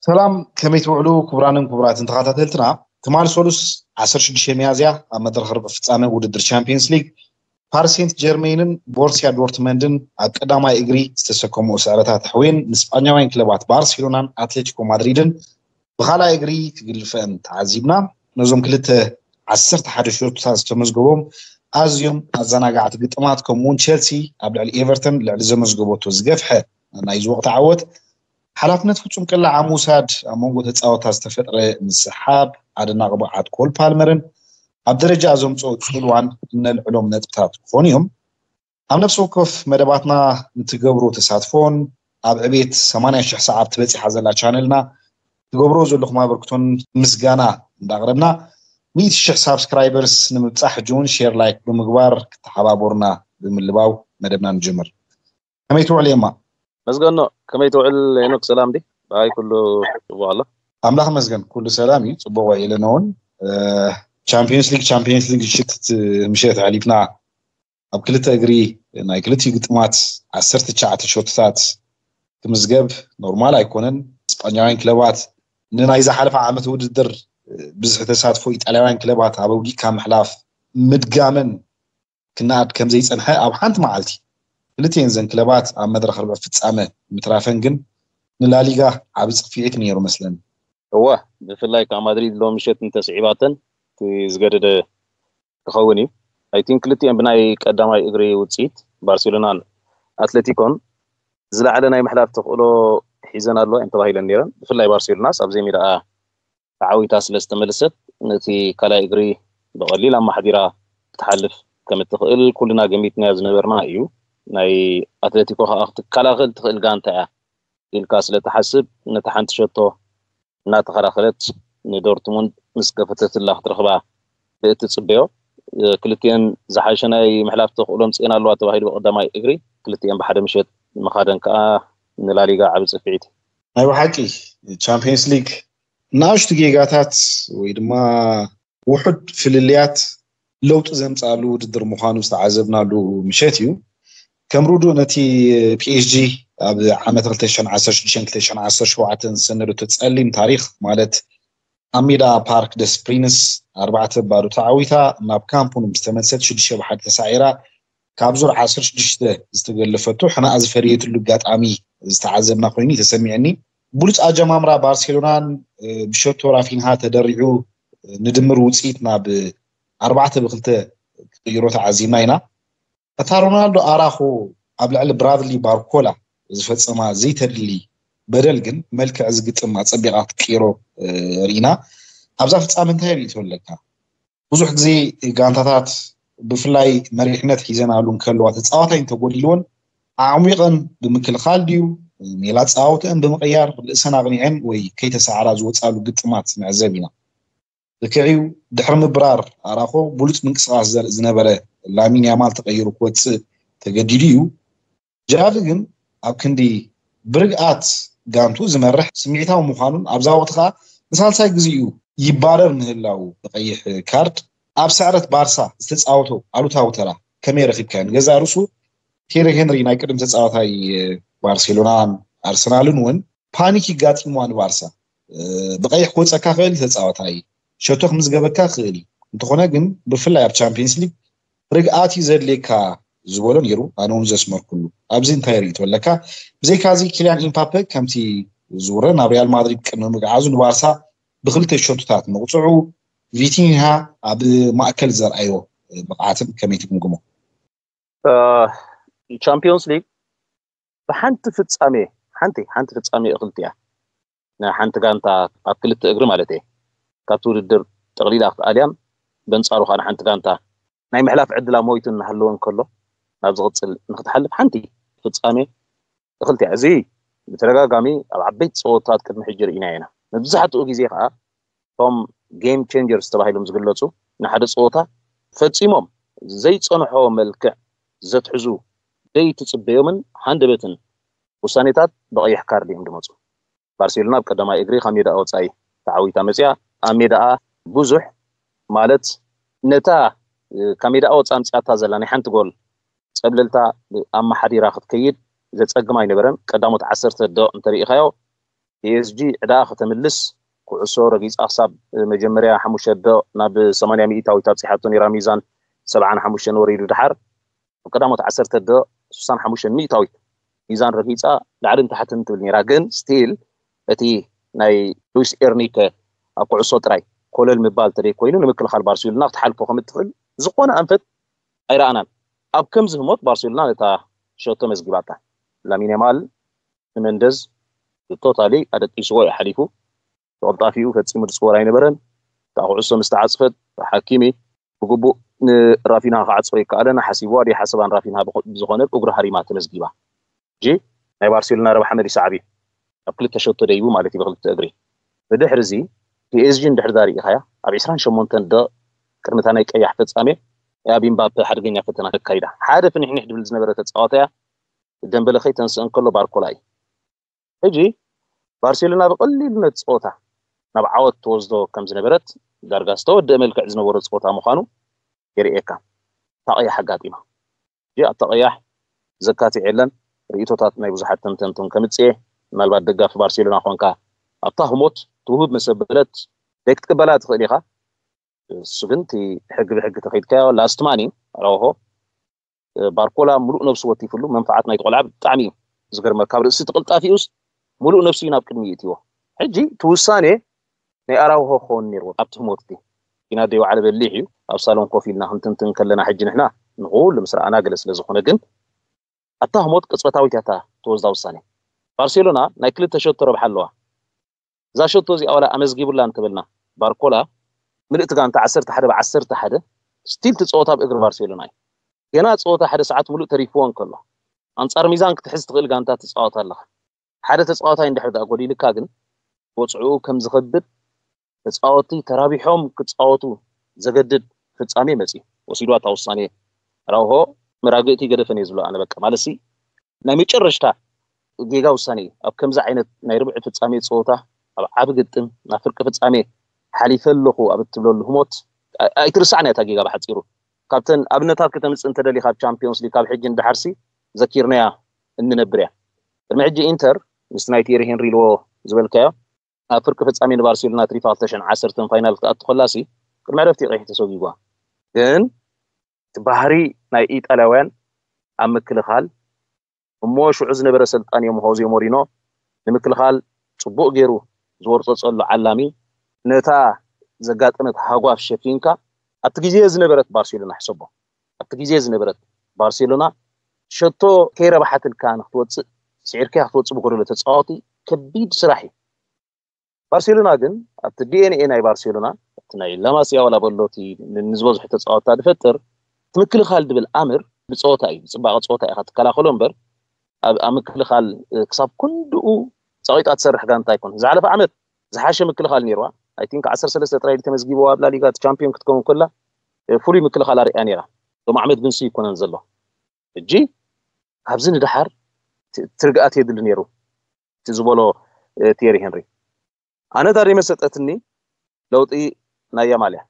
ሰላም፣ ከመይ ትውዕሉ ክቡራንን ክቡራትን ተኸታተልትና? ትማሊ ሰሉስ ዓሰርተ ሽዱሽተ ሚያዝያ ኣብ መድረኽ ርብዒ ፍጻመ ውድድር ቻምፒየንስ ሊግ ፓሪስ ሴንት ጀርሜንን ቦርሲያ ዶርትመንድን ኣብ ቀዳማይ እግሪ ዝተሰከምኦ ስዕረታት ኣሕውየን ንስጳኛውያን ክለባት ባርሴሎናን ኣትሌቲኮ ማድሪድን ብኻልኣይ እግሪ ክግልፈን ተዓዚብና። ነዞም ክልተ ዓሰርተ ሓደ ሸቶታት ዝተመዝገቦም ኣዝዮም ኣዘናጋዕቲ ግጥማት፣ ከምኡውን ቸልሲ ኣብ ልዕሊ ኤቨርተን ልዕሊ ዘመዝገበቶ ዝገፍሐ ናይዚ ወቕቲ ዓወት ሓላፍነት ፍጹም ቅላዕ ኣብ ምውሳድ ኣብ መንጎ ተጻወታ ዝተፈጥረ ምስሓብ ኣደናቂ ብቕዓት ኮል ፓልመርን ኣብ ደረጃ ዘምጽኦ ጽልዋን እነልዕሎም ነጥብታት ክኾኑ እዮም። ኣብ ነፍሲ ወከፍ መደባትና ንትገብሮ ተሳትፎን ኣብ ዕቤት ሰማንያ ሽሕ ሰዓብ ትበጺሓ ዘላ ቻነልና ትገብሮ ዘለኹም ኣበርክቶን ምስጋና እንዳቕረብና፣ ሚእቲ ሽሕ ሳብስክራይበርስ ንምብጻሕ ሕጂ እውን ሼር፣ ላይክ ብምግባር ክተሓባበሩና ብምልባው መደብና ንጅምር። ከመይ ትውዕል የማ? መስገኖ፣ ከመይ ትውዕል ሄኖክ? ሰላም ዲ? ብኣይ ኩሉ ጽቡቕ ኣሎ። ኣምላኽ መስገን ኩሉ ሰላም እዩ፣ ጽቡቕ ውዒልና እውን። እ፣ ቻምፒዮንስ ሊግ፣ ቻምፒዮንስ ሊግ ምሽት፣ ምሸት ኣሕሊፍና ኣብ ክልተ እግሪ ናይ ክልቲኡ ግጥማት ዓሰርተ ትሽዓተ ሸቶታት ክምዝገብ ኖርማል ኣይኮነን። እስጳኛውያን ክለባት ንናይ ዝሓለፈ ዓመት ውድድር ብዝሒ ተሳትፎ ኢጣልያውያን ክለባት ኣብ ኣውዲቕካ ምሕላፍ ምድጋመን ክነኣድ ከም ዘይጸንሐ ኣብ ሓንቲ መዓልቲ ክልቲኤን ዘን ክለባት ኣብ መድረኽ ርብዒ ፍጻመ ምትራፈን ግን ንላሊጋ ዓቢ ጽፍዒት ነይሩ መስለኒ። እወ፣ ብፍላይ ከዓ ማድሪድ ሎም ምሸት እንተስዒባተን እቲ ዝገደደ ክኸውን እዩ። ኣይ ቲንክ ክልቲኤን ብናይ ቀዳማይ እግሪ ውጽኢት ባርሴሎናን ኣትሌቲኮን ዝለዓለ ናይ ምሕላፍ ተኽእሎ ሒዘን ኣለዋ እየን ተባሂለን ነይረን። ብፍላይ ባርሴሎናስ ኣብ ዘይሜዳኣ ተዓዊታ ስለ ዝተመልሰት ነቲ ካልኣይ እግሪ ብቐሊል ኣማሕዲራ ክትሓልፍ ከም እትኽእል ኩልና ገሚትናዮ ዝነበርና እዩ። ናይ ኣትሌቲኮ ከዓ ክትከላኸል ትኽእል ጋንታ እያ ኢልካ ስለ ትሓስብ ነቲ ሓንቲ ሸቶ እናተኸላኸለት ንዶርትሙንድ ምስ ገፈተትላ ክትረኽባ ብእትጽበዮ፣ እ፣ ክልቲኤን ዝሓሸ ናይ ምሕላፍ ተኽእሎ ኣምጺኤን ኣለዋ ተባሂሉ ብቐዳማይ እግሪ ክልቲኤን ብሓደ ምሸት ምኻደን ከኣ ንላሊጋ ዓቢ ጽፍዒት እዩ። ናይ ብሓቂ ቻምፒየንስ ሊግ ንኣሽቱ ጌጋታት ወይ ድማ ውሑድ ፍልልያት ለውጢ ዘምጽኣሉ ውድድር ምዃኑ ዝተዓዘብናሉ ምሸት እዩ። ከም ርዱእ ነቲ ፒኤስጂ ኣብ ዓመት ክልተ ሽሕን ዓሰርተ ሽዱሽተን ክልተ ሽሕን ዓሰርተ ሸውዓተን ዝሰነደቶ ጸሊም ታሪኽ ማለት ኣብ ሜዳ ፓርክ ደስ ፕሪንስ ኣርባዕተ ባዶ ተዓዊታ ናብ ካምፕ ኑ ምስ ተመልሰት ሽዱሽተ ብሓደ ተሳዒራ ካብ ዙር ዓሰርተ ሽዱሽተ ዝተገለፈቶ ሕናኣ ዝፈለየትሉ ኣጋጣሚ ዝተዓዘብና ኮይኑ እዩ ተሰሚዕኒ። ብሉጽ ኣጀማምራ ባርሴሎናን፣ እ፣ ብሸቶ ራፊንሃ ተደሪዑ፣ እ፣ ንድምር ውጽኢት ናብ ኣርባዕተ ብክልተ ክቕይሮ ተዓዚብና ኢና። እታ ሮናልዶ ኣራኾ ኣብ ልዕሊ ብራድሊ ባርኮላ ዝፈጸማ ዘይተድሊ በደል ግን መልክዕ ዝግጥም ኣጸቢቓ ክትቅይሮ፣ እ፣ ርኢና። ኣብዛ ፍጻመ እንታይ ርእይቶ ኣለካ? ብዙሕ ግዜ ጋንታታት ብፍላይ መሪሕነት ሒዘናሉ እንከለዋ ተጻዋታይ እንተጎዲልወን ኣዕሚቐን ብምክልኻል ድዩ ሜላ ኣጻዋውተአን ብምቕያር ርእሰን ኣቕኒዐን ወይ ከይተሳዕራ ዝወጻሉ ግጥማት ንዕዘብ ኢና። ልክዕ እዩ፣ ድሕሪ ምብራር ኣራኾ ብሉጽ ምንቅስቓስ ዘርኢ ዝነበረ ላሚን ያማል ተቐይሩ ክወጽእ ተገዲዱ እዩ። ጃቪ ግን ኣብ ክንዲ ብርግኣት ጋንቱ ዝመርሕ ስምዒታዊ ምዃኑን ኣብዛ ወቕቲ ከኣ ንሳልሳይ ግዜኡ ይባረር ምህላዉ ብቐይሕ ካርድ ኣብ ስዕረት ባርሳ ዝተጻወቶ ኣሉታዊ ተራ ከመይ ረኺብካዮ? ንገዛእ ርእሱ ቴሪ ሄንሪ ናይ ቅድም ተጻዋታይ ባርሴሎናን ኣርሰናልን እውን ፓኒክ ይጋጢምዋ ንባርሳ። እ፣ ብቐይሕ ክወጸካ ክእል ተጻዋታይ ሸቶ ክምዝገበካ ክእል እዩ። እንተኾነ ግን ብፍላይ ኣብ ቻምፒየንስ ሊግ ርግኣት እዩ ዘድልየካ ዝበሎ ነይሩ። ኣነ እውን ዘስመርኩሉ። ኣብዚ እንታይ ርእይቶ ኣለካ? ብዘይካዚ ኪልያን ኢምፓፔ ከምቲ ዝውረ ናብ ሪያል ማድሪድ ቅድሚ ምግዓዙ ንባርሳ ብክልተ ሸቶታት ምቕፅዑ፣ ቪቲንሃ ኣብ ማእከል ዘርኣዮ ብቕዓትን ከመይ ትግምግሞ? እ፣ ቻምፒዮንስ ሊግ ብሓንቲ ፍጻሜ፣ ሓንቲ፣ ሓንቲ ፍጻሜ እኽልቲ እያ። ናይ ሓንቲ ጋንታ ኣብ ክልተ እግሪ ማለት እየ። ካብቲ ውድድር ጠቕሊላ ክትኣልያን በንጻሩ ከኣ ንሓንቲ ጋንታ ናይ ምሕላፍ ዕድላ ሞይቱ እናሃለወ እንከሎ ናብ ዝቕጽል ንክትሓልፍ ሓንቲ ፍጻሜ እኽልቲ እያ። እዚ ብተደጋጋሚ ኣብ ዓበይቲ ጸወታት ቅድሚ ሕጂ ርኢናዮ ኢና። መብዛሕትኡ ግዜ ከኣ እቶም ጌም ቼንጀርስ ተባሂሎም ዝግለጹ ንሓደ ጸወታ ፈጺሞም ዘይጸንሖ መልክዕ ዘትሕዙ ዘይትጽበዮምን ሃንደበትን ውሳኔታት ብቐይሕ ካርድ እዮም ዝመጹ። ባርሴሎና ኣብ ቀዳማይ እግሪ ካብ ሜዳኣ ወጻኢ ተዓዊታ መጽያ። ኣብ ሜዳኣ ብዙሕ ማለት ነታ፣ እ፣ ካብ ሜዳኣ ወጻኢ ኣምጽኣታ ዘላ ናይ ሓንቲ ጎል ጸብለልታ ኣመሓዲራ ክትከይድ ዘጸግም ኣይነበረን። ቀዳሞት ዓሰርተ ደቂቕ እንተሪኢኻዮ ፒኤስጂ ዕዳ ከተምልስ ኩዕሶ ረጊፃ ክሳብ መጀመርያ ሓሙሽተ ደቕ ናብ ሰማንያ ሚእታዊት ኣብፂሓቶ ነይራ። ሚዛን ሰብዓን ሓሙሽተን ወሪዱ። ድሓር ኣብ ቀዳሞት ዓሰርተ ደቕ ስሳን ሓሙሽተን ሚእታዊት ሚዛን ረጊፃ ላዕልን ታሕትን ትብል ነይራ። ግን ስቲል እቲ ናይ ሉዊስ ኤርኒከ ኣብ ኩዕሶ ጥራይ ኮለል ምባል ተደይ ኮይኑ ንምክልኻል ባርሴሎና ክትሓልፎ ከም እትኽእል ዝኾነ ኣንፈት ኣይረኣናን። ኣብ ከምዚ ህሞት ባርሴሎና ነታ ሸቶ መዝጊባታ። ላሚን ያማል ንመንደዝ ቶታሊ ኣደቂስዎ እዩ ሓሊፉ። ተቐልጣፊኡ ፈጺሙ ዝጽወር ኣይነበረን። እታ ኩዕሶ ምስ ተዓጽፈት፣ ሓኪሚ ብግቡእ ንራፊና ክዓጽፎ ይከኣለን ሓሲብዋ ድዩ ሓሰባን ራፊና ብኸ-፣ ብዝኾነ እግሩ ሃሪማ ተመዝጊባ። ሕጂ ናይ ባርሴሎና ረብሓ መሊሱ ዓብዩ። ኣብ ክልተ ሸቶ ደይቡ ማለት እዩ ብክልተ እግሪ። ብድሕሪ እዚ ፒኤስጂ እንድሕር ዳ ርኢኻያ፣ ኣብ ዕስራን ሸሞንተን ደቕ ቅድሚ እታ ናይ ቀያሕ ፍጻሜ፣ ኣብ ኢምባፔ ሓደገኛ ፈተና ተካይዳ። ሓደ ፍንሕንሕ ድብል ዝነበረ ተጻዋታያ ደምበለ ከይተንስእ እንከሎ ባርኮላ እዩ። ሕጂ ባርሴሎና ብቐሊሉ ነቲ ጸወታ ናብ ዓወት ትወስዶ ከም ዝነበረት፣ ዳርጋ ዝተወደአ መልክዕ ዝነበሮ ጸወታ ምዃኑ የርእየካ። እታ ቀያሕ ኣጋጢማ። ሕጂ ኣብታ ቀያሕ ዘካትዕ የለን። ርእይቶታት ናይ ብዙሓት ተንተንቱን ከምጽእ እየ። ምናልባት ደጋፊ ባርሴሎና ኮንካ ኣብታ ህሞት ትውህብ መሰበለት ደይ ክትቅበላ ትኽእል ኢኻ። እሱ ግን እቲ ሕጊ ብሕጊ ተኸይድካዮ ላስት ማን እዩ ኣራውሆ። ባርኮላ ሙሉእ ነብሱ ወቲፍሉ። መንፍዓት ናይቲ ቆልዓ ብጣዕሚ እዩ ዝገርመካ። ካብ ርእሲ እቲ ቅልጣፊኡስ ሙሉእ ነብሱ እዩ ናብ ቅድሚ ይእትዎ። ሕጂ እቲ ውሳኔ ናይ ኣራውሆ ክኸውን ነይርዎ ኣብቲ ህሞት እቲ። ኢና ደይ ወዓለ በሊሕ እዩ። ኣብ ሳሎን ኮፍ ኢልና ክንትንትን ከለና ሕጂ ንሕና ንኹሉ ምስ ረኣና ገለ ስለ ዝኾነ፣ ግን ኣብታ ህሞት ቅጽበታዊት እያ እታ ተወስዳ ውሳኔ። ባርሴሎና ናይ ክልተ ሸቶ ረብሓ ኣለዋ። እዛ ሸቶ እዚኣ ዋላ ኣመዝጊቡላ እንተበልና፣ ባርኮላ ምልእቲ ጋንታ ዓሰርተ ሓደ ብ ዓሰርተ ሓደ ስቲል ትጻወት ኣብ እግሪ ባርሴሎና እዩ። ገና ጸወታ ሓደ ሰዓት ሙሉእ ተሪፍዎ እንከሎ፣ ኣንጻር ሚዛን ክትሕዝ ትኽእል ጋንታ ትጻወት ኣለኻ። ሓደ ተጻዋታይ እንድሕር ደኣ ጎዲልካ ግን፣ ወጽዕኡ ከም ዝኸብድ፣ ተጻወትቲ ተራቢሖም ክጻወቱ ዘገድድ ፍጻሜ መጺኡ። ወሲድዋ እታ ውሳኔ። ኣራውሆ መራግእቲ ገደፈን እየ ዝብሎ ኣነ። በቃ፣ ማለትሲ ናይ መጨረሽታ ጌጋ ውሳኔ እዩ። ኣብ ከምዚ ዓይነት ናይ ርብዒ ፍጻሜ ጸወታ፣ ኣብ ዓቢ ግጥም፣ ናብ ፍርቂ ፍጻሜ ሓሊፈ ኣለኹ ኣብ እትብለሉ ህሞት፣ ኣይ-፣ ኣይትርስዓን እያ እታ ጌጋ ብሓጺሩ። ካብተን ኣብነታት ከተምጽእ እንተደሊኻ፣ ኣብ ቻምፒዮንስ ሊግ ካብ ሕጂ ንደሓርሲ ዘኪርናያ እንነብር እያ። ቅድሚ ሕጂ ኢንተር፣ ምስቲ ናይ ቲየሪ ሄንሪ ኢልዎ ዝበልካዮ፣ ኣብ ፍርቂ ፍጻሜ ንባርሴሎና ትሪፋ ክልተ ሽሕን ዓሰርተን ፋይናል ክትኣቱ ከላሲ፣ ቅድሚ ዕረፍቲ ቀይሕ ተሰጒጓ። ግን እቲ ባህሪ ናይ ኢጣልያውያን ኣብ ምክልኻል፣ እሞ ሽዑ ዝነበረ ሰልጣን እዮም ሆዜ ሞሪኖ ንምክልኻል ጽቡቕ ገይሩ ዝወርጸጸሉ ዓላሚ፣ ነታ ዘጋጠመት ሃጓፍ ሸፊንካ፣ ኣብቲ ግዜ ዝነበረት ባርሴሎና ሕሰቦ። ኣብቲ ግዜ ዝነበረት ባርሴሎና ሸቶ ከይረብሓትልካ ንክትወጽእ፣ ስዒርካ ክትወጽእ ብጎደሎ ተጻወቲ ከቢድ ስራሕ እዩ። ባርሴሎና ግን ኣብቲ ዲኤንኤ ናይ ባርሴሎና፣ ኣብቲ ናይ ላማሲያ ዋላ በሎ እቲ ን-፣ ንዝበዝሑ ተጻወትታ ዝፈጥር፣ እቲ ምክልኻል ድብል ኣምር ብጸወታ እዩ፣ ብጽባቐ ጸወታ ኢኻ ትከላኸሎ እምበር፣ ኣብ፣ ኣብ ምክልኻል፣ እ፣ ክሳብ ክንድኡ ጸቒጣ ትሰርሕ ጋንታ ኣይኮነን። ዝሓለፈ ዓመት ዝሓሸ ምክልኻል ነይርዋ። ኣይ ቲንክ ዓሰርተ ሰለስተ ጥራይ ተመዝጊብዋ ኣብ ላሊጋ እቲ ቻምፒዮን ክትከውን ከላ፣ እ፣ ፍሉይ ምክልኻል ኣርእያ ነይራ። ሎም ዓመት ግን ሲ ይኮነን ዘሎ። ሕጂ ካብዚ ንደሓር ት-፣ ትርግኣት የድሊ ነይሩ። እቲ ዝበሎ፣ እ፣ ቲየሪ ሄንሪ። ኣነ እታ ደይመሰጠትኒ ለውጢ ናይ ያማል እያ።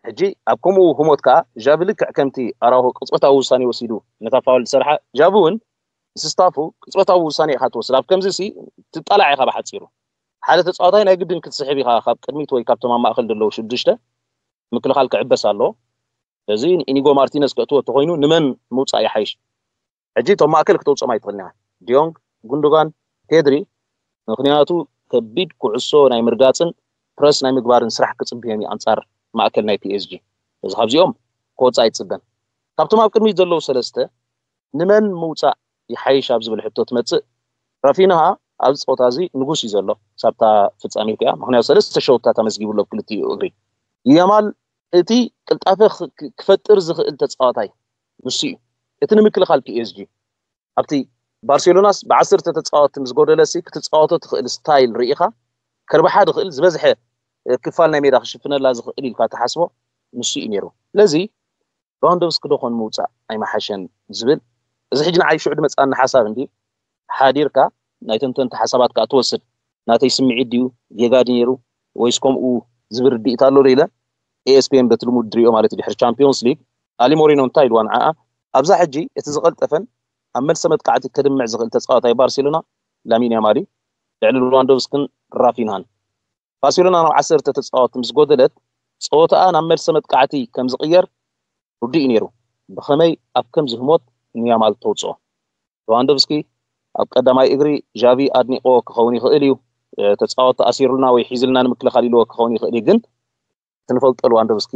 ሕጂ ኣብ ከምኡ ህሞት ከኣ ዣቪ ልክዕ ከምቲ ኣራውሆ ቅጽበታዊ ውሳኔ ወሲዱ ነታ ፋውል ዝሰርሓ፣ ዣቪ እውን ምስ ስታፉ ቅጽበታዊ ውሳኔ ኢኻ ትወስድ። ኣብ ከምዚ ሲ ትጣላዕ ኢኻ ብሓጺሩ። ሓደ ተጻዋታይ ናይ ግድን ክትስሕብ ኢኻ ካብ ቅድሚት ወይ ካብቶም ኣብ ማእከል ዘለዉ ሽዱሽተ ምክልኻል ክዕበስ ኣለዎ። ስለዚ ንኢኒጎ ማርቲነዝ ከእትዎ እንተኾይኑ ንመን ምውጻእ ይሓይሽ? ሕጂ እቶም ማእከል ክተውጽኦም ኣይትኽእልን ኢኻ። ዲዮንግ፣ ጉንዶጋን፣ ፔድሪ፣ ምኽንያቱ ከቢድ ኩዕሶ ናይ ምርጋጽን ፕረስ ናይ ምግባርን ስራሕ ክጽብዮም እዩ ኣንጻር ማእከል ናይ ፒኤስጂ። እዚ ካብዚኦም ክወጽእ ኣይትጽበን። ካብቶም ኣብ ቅድሚት ዘለዉ ሰለስተ ንመን ምውጻእ ይሓይሽ ኣብ ዝብል ሕቶ ትመጽእ፣ ራፊንሃ ኣብዚ ጸወታ እዚ ንጉስ እዩ ዘሎ፣ ሳብታ ፍጻሜ እቲኣ፣ ምኽንያቱ ሰለስተ ሸውታት ኣመዝጊቡ ኣሎ ኣብ ክልቲኡ እግሪ። ያማል እቲ ቅልጣፈ ክ-፣ ክ-፣ ክፈጥር ዝኽእል ተጻዋታይ ንሱ እዩ። እቲ ንምክልኻል ፒኤስጂ ኣብቲ ባርሴሎናስ ብዓሰርተ ተጻወትቲ ምስ ጎደለሲ ክትጻወቶ ትኽእል ስታይል ርኢኻ፣ ከርብሓ ዝኽእል ዝበዝሐ ክፋል ናይ ሜዳ ክሽፍነላ ዝኽእል ኢልካ ትሓስቦ ንሱ እዩ ነይሩ። ስለዚ ሌዋንዶቭስኪ ዶ ኾን ምውጻእ ኣይመሓሸን ዝብል፣ እዚ ሕጂ ንዓይ ሽዑ ድመጽኣኒ ሓሳብ እንዲ ሓዲርካ ናይ ተንተንቲ ሓሳባት ከኣ ትወስድ። ናተይ ስምዒት ድዩ፣ ጌጋ ድዩ ነይሩ፣ ወይስ ከምኡ ዝብል ርድኢት ኣሎ ዶ ኢለ ኤኤስፒኤን በቲ ልሙድ ድሪኦ ማለት እዩ። ድሕሪ ቻምፒዮንስ ሊግ ኣሊ ሞሪኖ እንታይ ኢልዋ ንዓኣ፣ ኣብዛ ሕጂ እቲ ዝቐልጠፈን ኣብ መልሰ መጥቃዕቲ ከድምዕ ዝኽእል ተጻዋታይ ባርሴሎና ላሚን ያማል እዩ። ልዕሊ ሉዋንዶቭስክን ራፊንሃን። ባርሴሎና ናብ ዓሰርተ ተጻወትቲ ምስ ጎደለት፣ ጸወታኣ ናብ መልሰ መጥቃዕቲ ከም ዝቕየር ርዱእ እዩ ነይሩ። ብኸመይ ኣብ ከምዚ ህሞት ንያማል ተውጽኦ? ሉዋንዶቭስኪ ኣብ ቀዳማይ እግሪ ዣቪ ኣድኒቕዎ ክኸውን ይኽእል እዩ። ተጻወትቲ ኣሲሩልና ወይ ሒዙልና ንምክልኻል ኢልዎ ክኸውን ይኽእል እዩ፣ ግን እቲ ንፈልጦ ሉዋንዶቭስኪ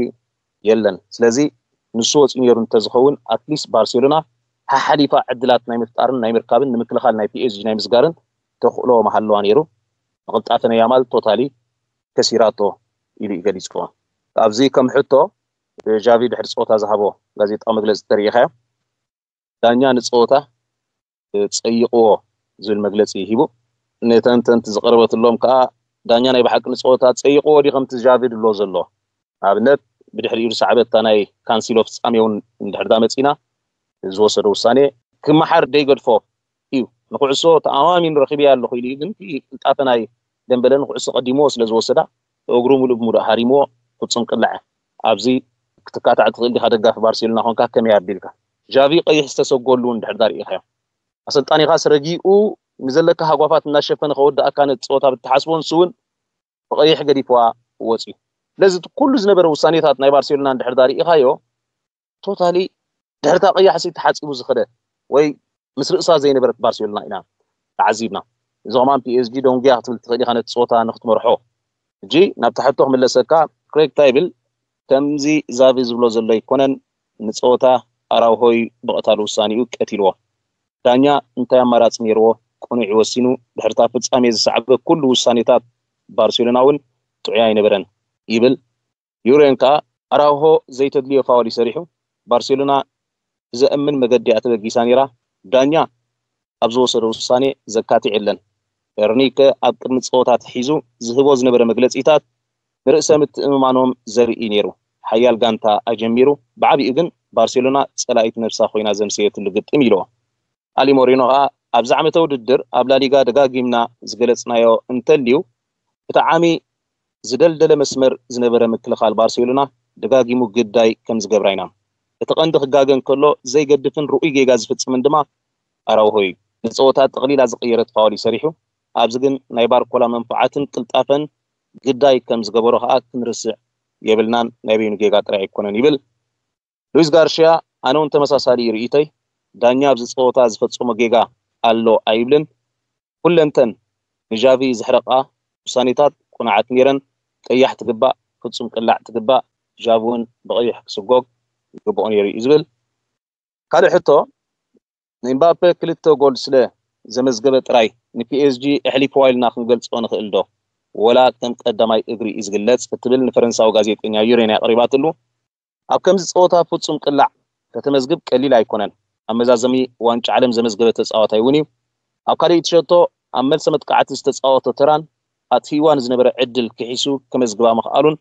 የለን። ስለዚ ንሱ ወፂኡ ነይሩ እንተዝኸውን፣ ኣትሊስት ባርሴሎና ሓሓሊፋ ዕድላት ናይ ምፍጣርን ናይ ምርካብን ንምክልኻል ናይ ፒኤስጂ ናይ ምስጋርን ተኽእሎ መሃለዋ ነይሩ። ንቕልጣፈ ናይ ያማል ቶታሊ ከሲራቶ ኢሉ እዩ ገሊፅዎ። ኣብዚ ከም ሕቶ ጃቪ ድሕሪ ፀወታ ዝሃቦ ጋዜጣዊ መግለፂ ተሪኢኻዮ። ዳኛ ንፀወታ ፀይቕዎ ዝብል መግለፂ ሂቡ። ንተንተንቲ ዝቐረበትሎም ከዓ ዳኛ ናይ ብሓቂ ንፀወታ ፀይቕዎ ድዩ ከምቲ ጃቪ ድሎ ዘሎ? ንኣብነት ብድሕሪኡ ዝሰዓበታ ናይ ካንሲሎ ፍፃሜ እውን እንድሕር ዳ መፂና ዝወሰዶ ውሳኔ ክመሓር ደይገድፎ እዩ። ንኩዕሶ ተኣማሚን ረኺበያ ኣለኹ ኢሉ እዩ፣ ግን እቲ ቅልጣፈ ናይ ደምበለ ንኩዕሶ ቀዲምዎ ስለ ዝወሰዳ እግሩ ሙሉእ ብሙሉእ ሃሪምዎ ፍፁም ቅላዕ። ኣብዚ ክትካታዕ ትኽእል ዲኻ? ደጋፊ ባርሴሎና ኮንካ ከመይ ኣቢልካ? ጃቪ ቀይሕ ዝተሰጎሉ እንድሕር ዳ ርኢኻዮ፣ ኣሰልጣኒኻስ ረጊኡ ንዘለካ ሃጓፋት እናሸፈነ ከወድኣካ ነቲ ፀወታ ብትሓስቦ ንሱ እውን ብቐይሕ ገዲፍዋ ወፅዩ። ስለዚ እቲ ኩሉ ዝነበረ ውሳኔታት ናይ ባርሴሎና እንድሕር ዳ ርኢኻዮ፣ ቶታሊ ድሕርታ ቀያሕ ሲ ተሓፂቡ ዝኸደ ወይ ምስ ርእሳ ዘይነበረት ባርሴሎና ኢና ተዓዚብና። እዚ ከማን ፒኤስጂ ዶንግያ ክትብል ትኽእል ኢኻ ነቲ ፀወታ ንክትመርሖ። ሕጂ ናብቲ ሕቶ ክምለሰካ፣ ክሬግ ታይብል ከምዚ ዛቪ ዝብሎ ዘሎ ኣይኮነን፣ ንፀወታ ኣራውሆይ ብቐታል ውሳኔኡ ቀቲልዎ። ዳኛ እንታይ ኣማራፂ ነይርዎ? ቅኑዕ ወሲኑ። ድሕርታ ፍፃሜ ዝሰዓበ ኩሉ ውሳኔታት ባርሴሎና እውን ጥዑይ ኣይነበረን ይብል። ዩሬን ከኣ ኣራውሆ ዘይተድልዮ ፋውል እዩ ሰሪሑ። ባርሴሎና ብዘእምን መገዲ እያ ተበጊሳ ነይራ። ዳኛ ኣብ ዝወሰዶ ውሳኔ ዘካትዕ የለን። ኤርኒከ ኣብ ቅድሚ ጸወታ ኣትሒዙ ዝህቦ ዝነበረ መግለጺታት ንርእሰ ምትእምማኖም ዘርኢ ነይሩ። ሓያል ጋንታ ኣጀሚሩ፣ ብዓቢኡ ግን ባርሴሎና ጸላኢት ነብሳ ኮይና ዘምሰየትሉ ግጥም ኢልዎ። ኣሊ ሞሪኖ ከኣ ኣብዚ ዓመተ ውድድር ኣብ ላሊጋ ደጋጊምና ዝገለጽናዮ እንተልዩ፣ እቲ ዓሚ ዝደልደለ መስመር ዝነበረ ምክልኻል ባርሴሎና ደጋጊሙ ግዳይ ከም ዝገብራ ኢና። እቲ ቀንዲ ክጋገ እንከሎ ዘይገድፍን ርኡይ ጌጋ ዝፍጽምን ድማ ኣራውሆ እዩ። ንጸወታ ጠቕሊላ ዝቐየረት ፋውል እዩ ሰሪሑ። ኣብዚ ግን ናይ ባርኮላ መንፍዓትን ቅልጣፈን ግዳይ ከም ዝገበሮ ከኣ ክንርስዕ የብልናን፣ ናይ በይኑ ጌጋ ጥራይ ኣይኮነን ይብል። ሉዊስ ጋርሽያ፣ ኣነ እውን ተመሳሳሊ እዩ ርእይቶይ። ዳኛ ኣብዚ ጸወታ ዝፈጸሞ ጌጋ ኣሎ ኣይብልን። ኩለንተን ንጃቪ ዘሕረቓ ውሳኔታት ቅኑዓት ነይረን። ቀያሕ ትግባእ፣ ፍጹም ቅላዕ ትግባእ። ጃቪ እውን ብቐይሕ ክስጎግ ይግብኦ ነይሩ እዩ ዝብል። ካልእ ሕቶ፣ ንኤምባፔ ክልተ ጎል ስለ ዘመዝገበ ጥራይ ንፒኤስጂ ኣሕሊፍዋ ኢልና ክንገልጾ ንኽእል ዶ? ወላ ከም ቀዳማይ እግሪ እዩ ዝግለጽ? እትብል ንፈረንሳዊ ጋዜጠኛ ዩሬን ኣቕሪባትሉ። ኣብ ከምዚ ጸወታ ፍጹም ቅላዕ ከተመዝግብ ቀሊል ኣይኮነን። ኣብ መዛዘሚ ዋንጫ ዓለም ዘመዝገበ ተጻዋታይ እውን እዩ። ኣብ ካልኣይቲ ሸቶ ኣብ መልሰ መጥቃዕቲ ዝተጻወቶ ተራን ኣጥፊእዋ ንዝነበረ ዕድል ክሒሱ ከመዝግባ ምኽኣሉን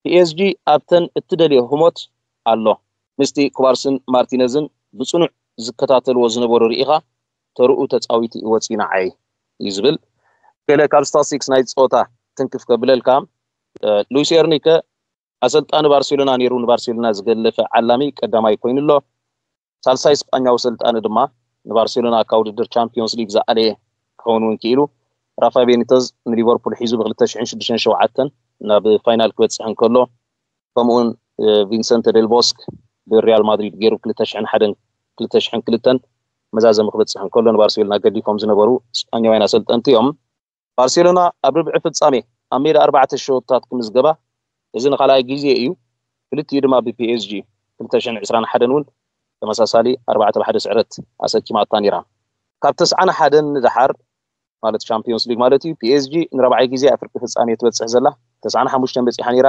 ፒኤስጂ ኣብተን እትደልዮ ህሞት ኣሎ። ምስቲ ኩባርስን ማርቲነዝን ብጽኑዕ ዝከታተልዎ ዝነበሩ ርኢኻ ተርኡ ተጻዊቱ ይወጽእ ንዓይ እዩ ዝብል። ገለ ካብ ስታትስቲክስ ናይ ጸወታ ትንክፍ ከብለልካ፣ ሉዊስ ኤርኒከ ኣሰልጣኒ ባርሴሎና ነይሩ፣ ንባርሴሎና ዝገለፈ ዓላሚ ቀዳማይ ኮይኑ ኣሎ። ሳልሳይ ስጳኛዊ ሰልጣኒ ድማ ንባርሴሎና ካብ ውድድር ቻምፒዮንስ ሊግ ዝኣለየ ክኸውን እውን ክኢሉ። ራፋ ቤኒተዝ ንሊቨርፑል ሒዙ ብ ክልተ ሽሕን ሽዱሽተን ሸውዓተን ናብ ፋይናል ክበጽሕ እንከሎ፣ ከምኡውን ቪንሰንተ ዴል ቦስክ ብሪያል ማድሪድ ገይሩ ክልተ ሽሕን ሓደን ክልተ ሽሕን ክልተን መዛዘሚ ክበጽሕ እንከሎ ንባርሴሎና ገዲፎም ዝነበሩ ስጳኛውያን ኣሰልጠንቲ እዮም። ባርሴሎና ኣብ ርብዒ ፍጻሜ ኣብ ሜዳ ኣርባዕተ ሸወታት ክምዝገባ፣ እዚ ንኻልኣይ ግዜ እዩ። ክልቲኡ ድማ ብፒኤስጂ ክልተ ሽሕን ዕስራን ሓደን እውን ተመሳሳሊ ኣርባዕተ ብሓደ ስዕረት ኣሰኪማታ ነይራ። ካብ ተስዓን ሓደን ንደሓር፣ ማለት ቻምፒዮንስ ሊግ ማለት እዩ፣ ፒኤስጂ ንራብዓይ ግዜ ኣብ ፍርቂ ፍጻሜ ትበጽሕ ዘላ። ተስዓን ሓሙሽተን በጺሓ ነይራ፣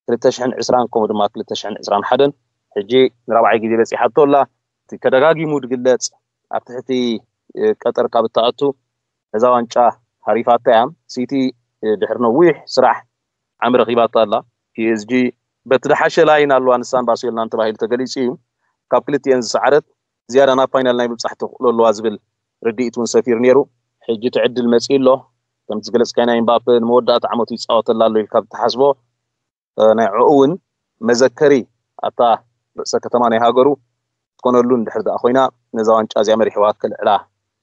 ክልተ ሽሕን ዕስራን ከምኡ ድማ ክልተ ሽሕን ዕስራን ሓደን። ሕጂ ንራብዓይ ግዜ በጺሓቶ ኣላ። እቲ ተደጋጊሙ ዝግለጽ፣ ኣብ ትሕቲ ቀጠር ካብ እትኣቱ ነዛ ዋንጫ ሃሪፋታ እያ። ሲቲ ድሕሪ ነዊሕ ስራሕ ዓሚ ረኺባታ ኣላ። ፒኤስጂ በቲ ዝሓሸ ላይን ኣለዋ፣ ንሳን ባርሴሎናን ተባሂሉ ተገሊጹ እዩ። ካብ ክልቲኤን ዝሰዓረት ዝያዳ ናብ ፋይናል ናይ ምብጻሕ ተኽእሎ ኣለዋ ዝብል ርድኢት እውን ሰፊሩ ነይሩ። ሕጂ እቲ ዕድል መጺኡ ኣሎ። ከምቲ ዝገለጽካዮ ናይ ኤምባፔ ንመወዳእታ ዓመቱ ይጻወተላ ኣሎ ኢልካ ብትሓስቦ፣ ናይ ዕኡ እውን መዘከሪ ኣብታ ርእሰ ከተማ ናይ ሃገሩ ክትኮነሉ እንድሕር ደኣ ኮይና፣ ነዛ ዋንጫ እዚኣ መሪሕዋ ከልዕላ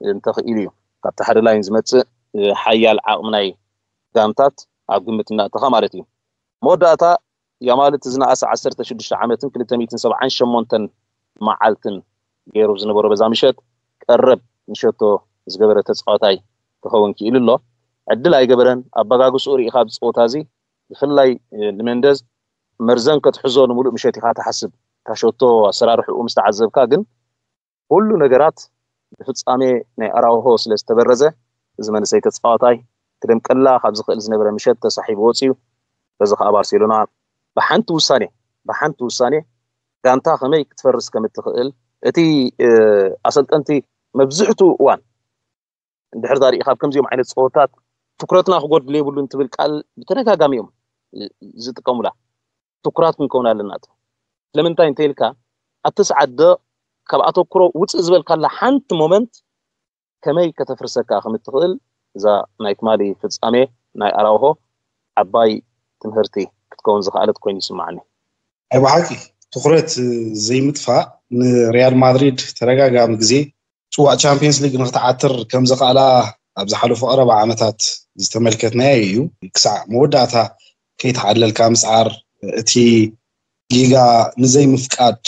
እንተኽኢሉ እዩ ካብቲ ሓደ ላይን ዝመጽእ ሓያል ዓቕሚ ናይ ጋንታት ኣብ ግምት እናእተኻ ማለት እዩ። መወዳእታ ያማል እቲ ዝነኣሰ ዓሰርተ ሽዱሽተ ዓመትን ክልተ ሚእትን ሰብዓን ሸሞንተን መዓልትን ገይሩ ዝነበሮ በዛ ምሸት ቀረብ ንሸቶ ዝገበረ ተፃዋታይ ክኸውን ክኢሉ ኣሎ። ዕድል ኣይገበረን። ኣበጋግስኡ ርኢኻ ኣብዚ ፀወታ እዚ ብፍላይ ንመንደዝ መርዘን ክትሕዞ ንምሉእ ምሸት ኢኻ ትሓስብ። እታ ሸቶ ኣሰራርሕኡ ምስ ተዓዘብካ ግን ኩሉ ነገራት ብፍጻሜ ናይ ኣራውሆ ስለ ዝተበረዘ እዚ መንእሰይ ተጻዋታይ ክደምቀላ ካብ ዝኽእል ዝነበረ ምሸት ተሳሒቡ ወጺኡ። በዚ ከኣ ባርሴሎና ብሓንቲ ውሳኔ ብሓንቲ ውሳኔ ጋንታ ከመይ ክትፈርስ ከም እትኽእል እቲ ኣሰልጠንቲ መብዝሕትኡ እዋን እንድሕር ዛርኢ ካብ ከምዚኦም ዓይነት ፀወታት ትኩረትና ክጎድል የብሉን ትብል ቃል ብተደጋጋሚ እዮም ዝጥቀሙላ። ትኩራት ክንከውን ኣለና። ስለምንታይ እንተ ኢልካ ኣብቲ ሰዓት ዶ ካብ ኣተኩሮ ውፅእ ዝበልካላ ሓንቲ ሞመንት ከመይ ከተፍርሰካ ከም እትኽእል እዛ ናይ ትማሊ ፍጻሜ ናይ ኣራውሆ ዓባይ ትምህርቲ ክትከውን ዝኸኣለት ኮይኑ ይስማዓኒ። ኣይ ብሓቂ ትኩረት ዘይምጥፋእ ንሪያል ማድሪድ ተደጋጋሚ ግዜ ፅዋዕ ቻምፒየንስ ሊግ ንክትዓትር ከም ዘኽኣላ ኣብ ዝሓለፉ ቀረባ ዓመታት ዝተመልከትናዮ እዩ። ክሳዕ መወዳእታ ከይተዓለልካ ምፅዓር፣ እቲ ጌጋ ንዘይምፍቃድ፣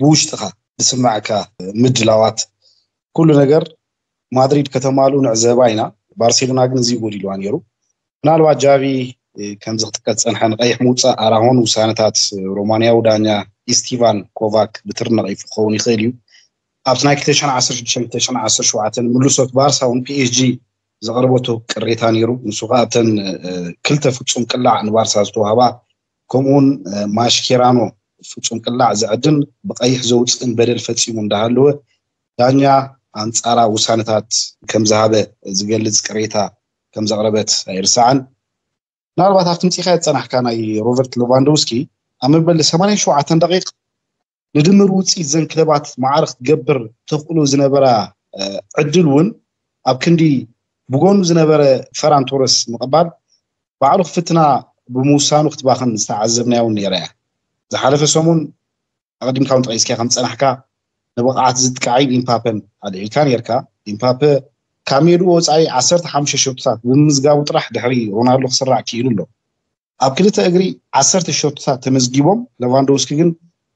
ብውሽጥኻ ዝስምዓካ ምድላዋት፣ ኩሉ ነገር ማድሪድ ከተማሉ ንዕዘባ ኢና። ባርሴሎና ግን እዚ ጎዲልዋ ነይሩ። ምናልባት ጃቪ ከምዚ ክጥቀስ ዝፀንሐ ንቀይሕ ምውፃእ ኣራሆን ውሳነታት ሮማንያዊ ዳኛ ኢስቲቫን ኮቫክ ብትሪ ነቒፉ ክኸውን ይኽእል እዩ። ኣብቲ ናይ ክልተ ሽሕን ዓሰርተ ሽዱሽተን ክልተ ሽሕን ዓሰርተ ሸውዓተን ምልሶት ባርሳ እውን ፒኤስጂ ዘቕረበቶ ቅሬታ ነይሩ። ንሱ ከዓ ኣብተን ክልተ ፍጹም ቅላዕ ንባርሳ ዝተዋህባ ከምኡውን ማሽኬራኖ ፍጹም ቅላዕ ዘዕድን ብቐይሕ ዘውፅእን በደል ፈጺሙ እንዳሃለወ ዳኛ ኣንጻራ ውሳነታት ከም ዝሃበ ዝገልጽ ቅሬታ ከም ዘቕረበት ኣይርሳዕን። ምናልባት ኣብቲ ምጽኢኻ ዝጸናሕካ ናይ ሮበርት ሌቫንዶውስኪ ኣብ መበል ሰማንያን ሸውዓተን ደቂቕ ንድምር ውጽኢት ዘን ክለባት ማዕረ ክትገብር ተኽእሎ ዝነበራ ዕድል እውን ኣብ ክንዲ ብጎኑ ዝነበረ ፈራን ቶረስ ምቕባል ባዕሉ ክፍትና ብምውሳኑ ክትባኽን ዝተዓዘብናዮ እውን ነይራ እያ። ዝሓለፈ ሰሙን ኣቐዲምካ እውን ጠቒስካ ከም ዝጸናሕካ ንብቕዓት ዝጥቃዒን ኢምፓፐን ኣልዒልካ ነይርካ። ኢምፓፐ ካብ ሜድኡ ወጻኢ ዓሰርተ ሓሙሽተ ሸቶታት ብምምዝጋቡ ጥራሕ ድሕሪ ሮናልዶ ክስራዕ ክኢሉ ኣሎ። ኣብ ክልተ እግሪ ዓሰርተ ሸቶታት ተመዝጊቦም፣ ሌቫንዶውስኪ ግን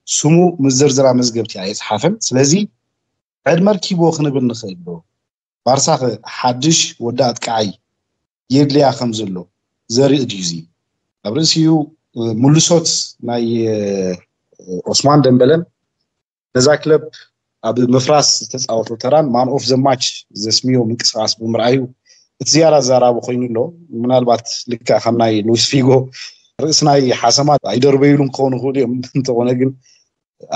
ስሙ ምስ ዝርዝራ መዝገብቲ ኣየጽሓፈን። ስለዚ ዕድመ ርኪብዎ ክንብል ንኽእል ዶ? ባርሳ ሓድሽ ወዲ ኣጥቃዓይ የድልያ ከም ዘሎ ዘርኢ ድዩ እዚ? ኣብ ርእሲኡ ምልሶት ናይ ኦስማን ደምበለን ነዛ ክለብ ኣብ ምፍራስ ዝተፃወቶ ተራን ማን ኦፍ ዘ ማች ዘስምዮ ምንቅስቃስ ብምርኣዩ እቲ ዝያዳ ኣዛራቢ ኮይኑ ኣሎ። ምናልባት ልክዕ ከም ናይ ሉዊስ ፊጎ ርእሲ ናይ ሓሰማ ኣይደርበይሉን ክኾኑ ይኽእሉ እዮም። እንተኾነ ግን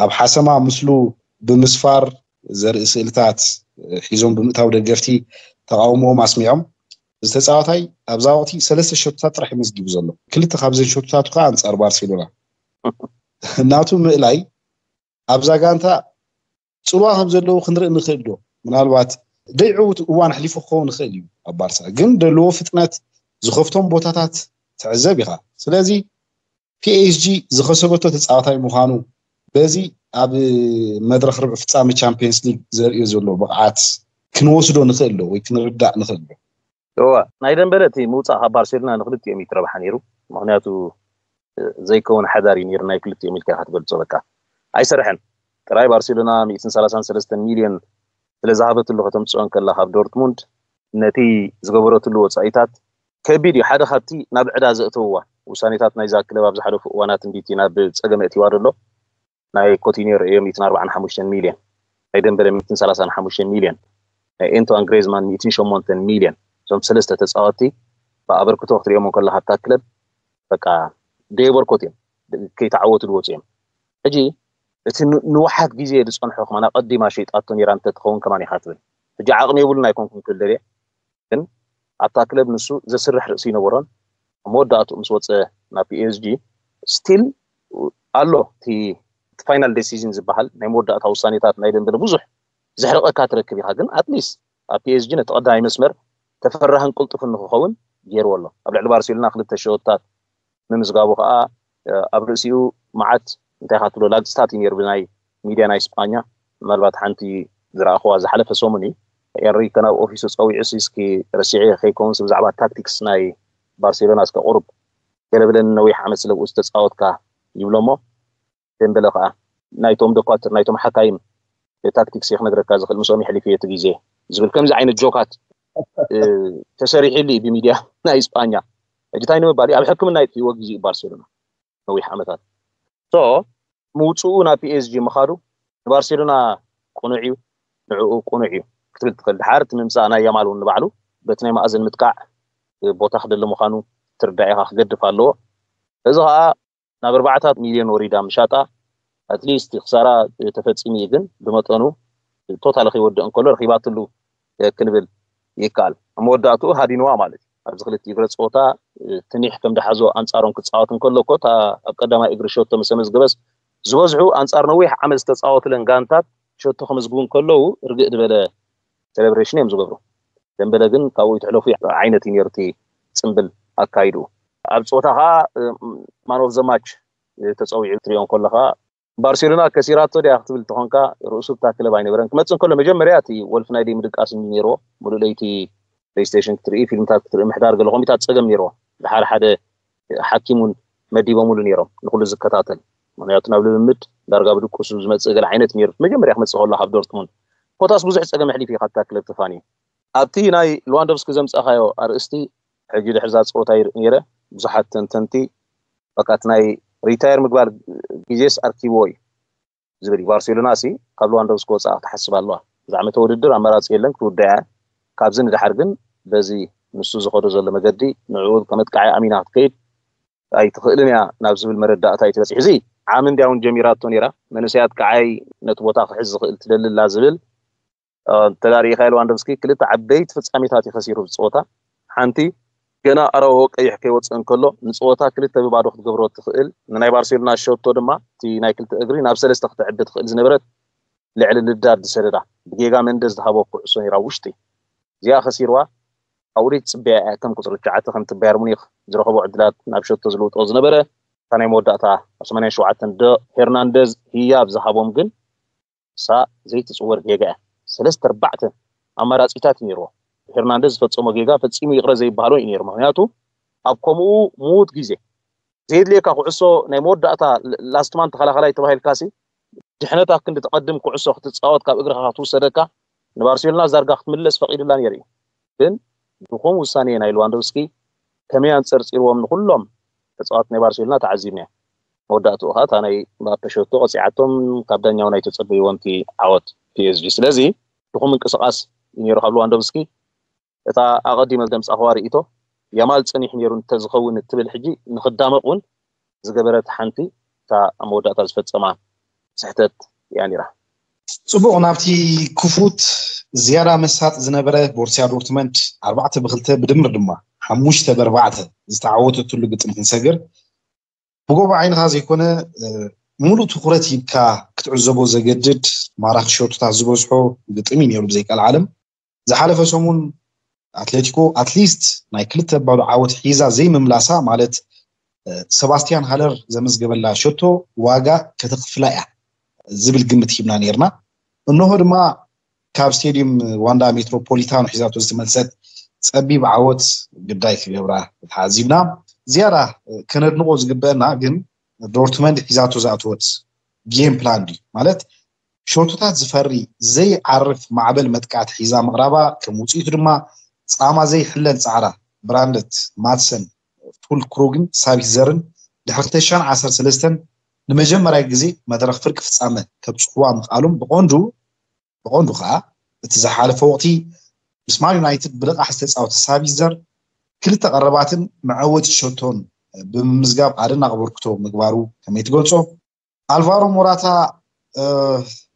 ኣብ ሓሰማ ምስሉ ብምስፋር ዘርኢ ስእልታት ሒዞም ብምእታው ደገፍቲ ተቃውሞኦም ኣስሚዖም። እዚ ተፃዋታይ ኣብዛ ወቅቲ ሰለስተ ሸቶታት ጥራሕ መዝጊቡ ዘሎ። ክልተ ካብዘን ሸቶታቱ ከዓ ኣንፃር ባርሴሎና እናቱ ምእላይ ኣብዛ ጋንታ ፅልዋ ከም ዘለዉ ክንርኢ ንኽእል ዶ? ምናልባት ደይዕውት እዋን ኣሕሊፉ ክኸውን ይኽእል እዩ ኣብ ባርሳ፣ ግን ዘለዎ ፍጥነት ዝኸፍቶም ቦታታት ትዕዘብ ኢኻ። ስለዚ ፒኤስጂ ዝኸሰበቶ ተፃዋታይ ምዃኑ በዚ ኣብ መድረክ ርብዕ ፍፃመ ቻምፒየንስ ሊግ ዘርእዮ ዘሎ ብቕዓት ክንወስዶ ንኽእል ዶ ወይ ክንርዳእ ንኽእል ዶ? እዋ ናይ ደንበለ እቲ ምውፃእ ካብ ባርሴሎና ንክልቲኦም እዩ ትረብሓ ነይሩ። ምክንያቱ ዘይከውን ሓዳር እዩ ነይሩ ናይ ክልቲኦም ኢልካ ኢኻ ትገልፆ። በቃ ኣይሰርሐን። ጥራይ ባርሴሎና ሚእትን ሰላሳን ሰለስተን ሚልዮን ስለ ዝሃበትሉ ከተምፅኦ እንከላ ካብ ዶርትሙንድ ነቲ ዝገበረትሉ ወፃኢታት ከቢድ እዩ። ሓደ ካብቲ ናብ ዕዳ ዘእተውዋ ውሳኔታት ናይዛ ክለብ ኣብ ዝሓለፉ እዋናት እንዲቲ ናብ ፀገም እቲዋ ዘሎ ናይ ኮቲኒዮ ርእዮም ሚእትን ኣርባዓን ሓሙሽተን ሚልዮን ናይ ደንበለ ሚእትን ሰላሳን ሓሙሽተን ሚልዮን ናይ ኤንቶዋን ግሬዝማን ሚእትን ሸሞንተን ሚልዮን እዞም ሰለስተ ተፃወቲ ብኣበርክቶ ክትሪኦም ከለካ ኣብታ ክለብ በቃ ደየበርኮት እዮም። ከይተዓወቱ ዝወፁ እዮም። ሕጂ እቲ ንውሓት ግዜ ዝፀንሖ ከማን ኣቀዲማ ሸይጣቶ ነይራ እንተትኸውን ከማን ኢካ ትብል። ሕጂ ዓቕሚ የብሉን ኣይኮንኩን ክብል ደልየ ግን ኣብታ ክለብ ንሱ ዘስርሕ ርእሲ ይነበሮን ኣብ መወዳእትኡ ምስ ወፀ ናብ ፒኤስጂ ስቲል ኣሎ እቲ ፋይናል ዴሲዥን ዝበሃል ናይ መወዳእታ ውሳኔታት ናይ ደንበለ ብዙሕ ዘሕርቀካ ትረክብ ኢካ ግን ኣትሊስት ኣብ ፒኤስጂ ነቲ ቀዳማይ መስመር ተፈራህን ቅልጡፍን ንክኸውን ገይርዎ ኣሎ ኣብ ልዕሊ ባርሴሎና ክልተ ሸወታት ምምዝጋቡ ከዓ ኣብ ርእሲኡ መዓት እንታይ ኢካ ትብሎ ላግፅታት እዩ ነይሩ ብናይ ሚድያ ናይ ስጳኛ ምናልባት ሓንቲ ዝረኣኽዋ ዝሓለፈ ሰሙን እዩ ኤንሪከ ናብ ኦፊሱ ጸዊዑ፣ እስኪ ረሲዐ ከይከውንስ ብዛዕባ ታክቲክስ ናይ ባርሴሎና እስከ ቁሩብ ገለ ብለኒ፣ ነዊሕ ዓመት ስለ ብኡ ዝተጻወትካ ይብሎ እሞ፣ ደምበለ ከኣ ናይቶም ዶኳትር፣ ናይቶም ሓካይም ታክቲክስ እየ ክነግረካ ዝኽእል፣ ምስኦም የሕሊፈ እቲ ግዜ ዝብል ከምዚ ዓይነት ጆካት ተሰሪሕሉ እዩ ብሚድያ ናይ እስጳኛ። ሕጂ እንታይ ንምባል እዩ? ኣብ ሕክምና የጥፍእዎ ግዜ እዩ ባርሴሎና ነዊሕ ዓመታት። ሶ ምውፅኡ ናብ ፒኤስጂ ምኻዱ ንባርሴሎና ቅኑዕ እዩ፣ ንዕኡ ቅኑዕ እዩ ክትብል ትኽእል። ድሓር እቲ ምምፃእ ናይ ያማል እውን ንባዕሉ በቲ ናይ ማእዘን ምጥቃዕ ቦታ ክደሊ ምዃኑ ትርዳእ ኢኻ፣ ክገድፍ ኣለዎ። እዚ ከዓ ናብ ኣርባዕታት ሚልዮን ወሪዳ ምሻጣ ኣትሊስት ክሳራ ተፈፂሙ እዩ፣ ግን ብመጠኑ ቶታሊ ከይወድእ እንከሎ ረኺባትሉ ክንብል ይከኣል። ኣብ መወዳእትኡ ሃዲንዋ ማለት እዩ። ኣብዚ ክልተ እግረ ፀወታ ትኒሕ ከም ድሓዞ ኣንፃሮም ክፃወት እንከሎ እኮ እታ ኣብ ቀዳማይ እግሪ ሸቶ ምስ ተመዝገበስ ዝበዝሑ ኣንፃር ነዊሕ ዓመት ዝተፃወትለን ጋንታት ሸቶ ከመዝግቡ እንከለዉ ርግእ ዝበለ ሴሌብሬሽን እዮም ዝገብሩ። ደምበለ ግን ካብኡ ይትሕለፉ ዓይነት እዩ ነይሩ እቲ ፅምብል ኣካይዱ። ኣብ ፀወታ ከዓ ማን ኦፍ ዘ ማች ተፀዊዑ ትሪኦ እንከሎ ከዓ ባርሴሎና ከሲራቶ ድያ ክትብል ተኾንካ ርእሱ እታ ክለብ ኣይነበረን። ክመፅእ እንከሎ መጀመርያ እቲ ወልፍ ናይ ደይ ምድቃስ እንዲ ነይርዎ፣ ሙሉእ ለይቲ ፕሌይስቴሽን ክትርኢ፣ ፊልምታት ክትርኢ፣ ምሕዳር ገለ ኮምፒታት ፀገም ነይርዎ። ድሓር ሓደ ሓኪም እውን መዲቦምሉ ነይሮም ንኩሉ ዝከታተል። ምክንያቱ ናብ ልምምድ ዳርጋ ብድቁሱ ዝመፅእ ገለ ዓይነት ነይሩ መጀመርያ ክመፅእ ከሎ ካብ ዶርትሙንድ። ኮታስ ብዙሕ ፀገም ኣሕሊፉ እዩ ካብታ ክለብ ተፋንዩ። ኣብቲ ናይ ሉዋንዶቭስኪ ዘምፃእካዮ ኣርእስቲ ሕጂ ድሕሪ እዛ ፀወታ ይርኢ ነይረ። ብዙሓት ተንተንቲ በቃ እቲ ናይ ሪታየር ምግባር ግዜስ ኣርኪብዎ እዩ ዝብል እዩ። ባርሴሎና ሲ ካብ ሉዋንዶቭስኪ ወፃእ ክትሓስብ ኣለዋ። እዛ ዓመተ ውድድር ኣማራፂ የለን፣ ክትውዳእ እያ። ካብዚ ንድሓር ግን በዚ ንሱ ዝኸዶ ዘሎ መገዲ ንዕኡ ከመጥቃዒ ኣሚና ክትከይድ ኣይትኽእልን እያ ናብ ዝብል መረዳእታ እዩ ትበፅሕ። እዚ ዓሚ እንድያ እውን ጀሚራቶ ነይራ። መንእሰያት ከዓይ ነቲ ቦታ ክሕዝ ዝኽእል ትደሊ ኣላ ዝብል ተዳሪእካ ሉዋንዶቭስኪ ክልተ ዓበይቲ ፍጻሜታት እዩ ከሲሩ ብፀወታ። ሓንቲ ገና ኣራውሆ ቀይሕ ከይወፅእ እንከሎ ንፀወታ ክልተ ብባዶ ክትገብሮ ትኽእል ንናይ ባርሴሎና ሸቶ ድማ እቲ ናይ ክልተ እግሪ ናብ ሰለስተ ክትዕቢ ትኽእል ዝነበረት ልዕሊ ልዳድ ዝሰደዳ ብጌጋ መንደዝ ዝሃቦ ኩዕሶ ነይራ ውሽጢ እዚኣ ከሲርዋ። ኣብኡ ደይ ትፅበያ እያ ከም ቁፅሪ ትሽዓተ ከምቲ ባየር ሙኒክ ዝረኸቦ ዕድላት ናብ ሸቶ ዝልውጦ ዝነበረ እታ ናይ መወዳእታ ኣብ ሰማንያን ሸውዓተን ዶ ሄርናንደዝ ህያብ ዝሃቦም ግን እሳ ዘይትፅወር ጌጋ እያ። ሰለስተ ኣርባዕተ ኣማራፂታት እዩ ነይርዎ። ሄርናንደዝ ዝፈፀሞ ጌጋ ፈፂሙ ይቕረ ዘይበሃሎ እዩ ነይሩ። ምክንያቱ ኣብ ከምኡ ምዉት ግዜ ዘየድልየካ ኩዕሶ ናይ መወዳእታ ላስት ማን ተኸላኸላይ ተባሂልካ ሲ ድሕነታ ክንዲ ተቐድም ኩዕሶ ክትፃወት ካብ እግርኻ ክትውሰደካ ንባርሴሎና ዛርጋ ክትምለስ ፈቒዱላ ነይሩ እዩ። ግን ድኹም ውሳኔ ናይ ሉዋንዶቭስኪ ከመይ ኣንፀርፂርዎም ንኩሎም ተፃወት ናይ ባርሴሎና ተዓዚብና። መወዳእትኡ ከዓ እታ ናይ ምባፔ ሸቶ ቀፂዓቶም ካብ ዳኛውን ኣይተፀበይዎን እቲ ዓወት ፒኤስጂ። ስለዚ ድኹም ምንቅስቃስ እዩ ነይሩ ካብ ሉዋንዶቭስኪ። እታ ኣቐዲመ ዘምፃእኽዋ ርእይቶ ያማል ፀኒሑ ነይሩ እንተዝኸውን እትብል ሕጂ ንክዳመቕ እውን ዝገበረት ሓንቲ እታ ኣብ መወዳእታ ዝፈፀማ ስሕተት እያ ነይራ። ፅቡቕ ናብቲ ክፉት ዝያዳ መሳጥ ዝነበረ ቦርሲያ ዶርትመንድ ኣርባዕተ ብክልተ ብድምር ድማ ሓሙሽተ ብኣርባዕተ ዝተዓወተትሉ ግጥም ክንሰግር ብጎቦ ዓይንኻ ዘይኮነ ምሉእ ትኩረት ሂብካ ክትዕዘቦ ዘገድድ ማራኺ ሸቶታት ዝበዝሖ ግጥም እዩ ነይሩ ብዘይቃል ዓለም። ዝሓለፈ ሰሙን ኣትሌቲኮ ኣትሊስት ናይ ክልተ ባዶ ዓወት ሒዛ ዘይምምላሳ ማለት ሰባስቲያን ሃለር ዘመዝገበላ ሸቶ ዋጋ ከተኽፍላ እያ ዝብል ግምት ሂብና ነይርና። እንሆ ድማ ካብ ስቴዲየም ዋንዳ ሜትሮፖሊታኖ ሒዛቶ ዝተመልሰት ፀቢብ ዓወት ግዳይ ክገብራ ተዓዚብና። ዝያዳ ከነድንቆ ዝግበአና ግን ዶርትመንድ ሒዛቶ ዝኣተወት ጌም ፕላን ድዩ ማለት ሸቶታት ዝፈሪ ዘይዓርፍ ማዕበል መጥቃዕቲ ሒዛ ምቕራባ ከም ውፅኢቱ ድማ ፃማ ዘይሕለል ፃዕራ ብራንደት ማትሰን ፉል ክሩግን ሳቢትዘርን ድሕሪ ክልተ ሽሕን ዓሰርተ ሰለስተን ንመጀመርያ ግዜ መድረኽ ፍርቂ ፍፃመ ከብፅሕዋ ምኽኣሎም ብቐንዱ ብቐንዱ ከዓ እቲ ዝሓለፈ ወቕቲ ምስ ማን ዩናይትድ ብልቓሕ ዝተፃወተ ሳቢትዘር ክልተ ቀረባትን መዐወቲ ሸቶን ብምምዝጋብ ኣደናቂ ኣበርክቶ ምግባሩ ከመይ ትገልፆ? ኣልቫሮ ሞራታ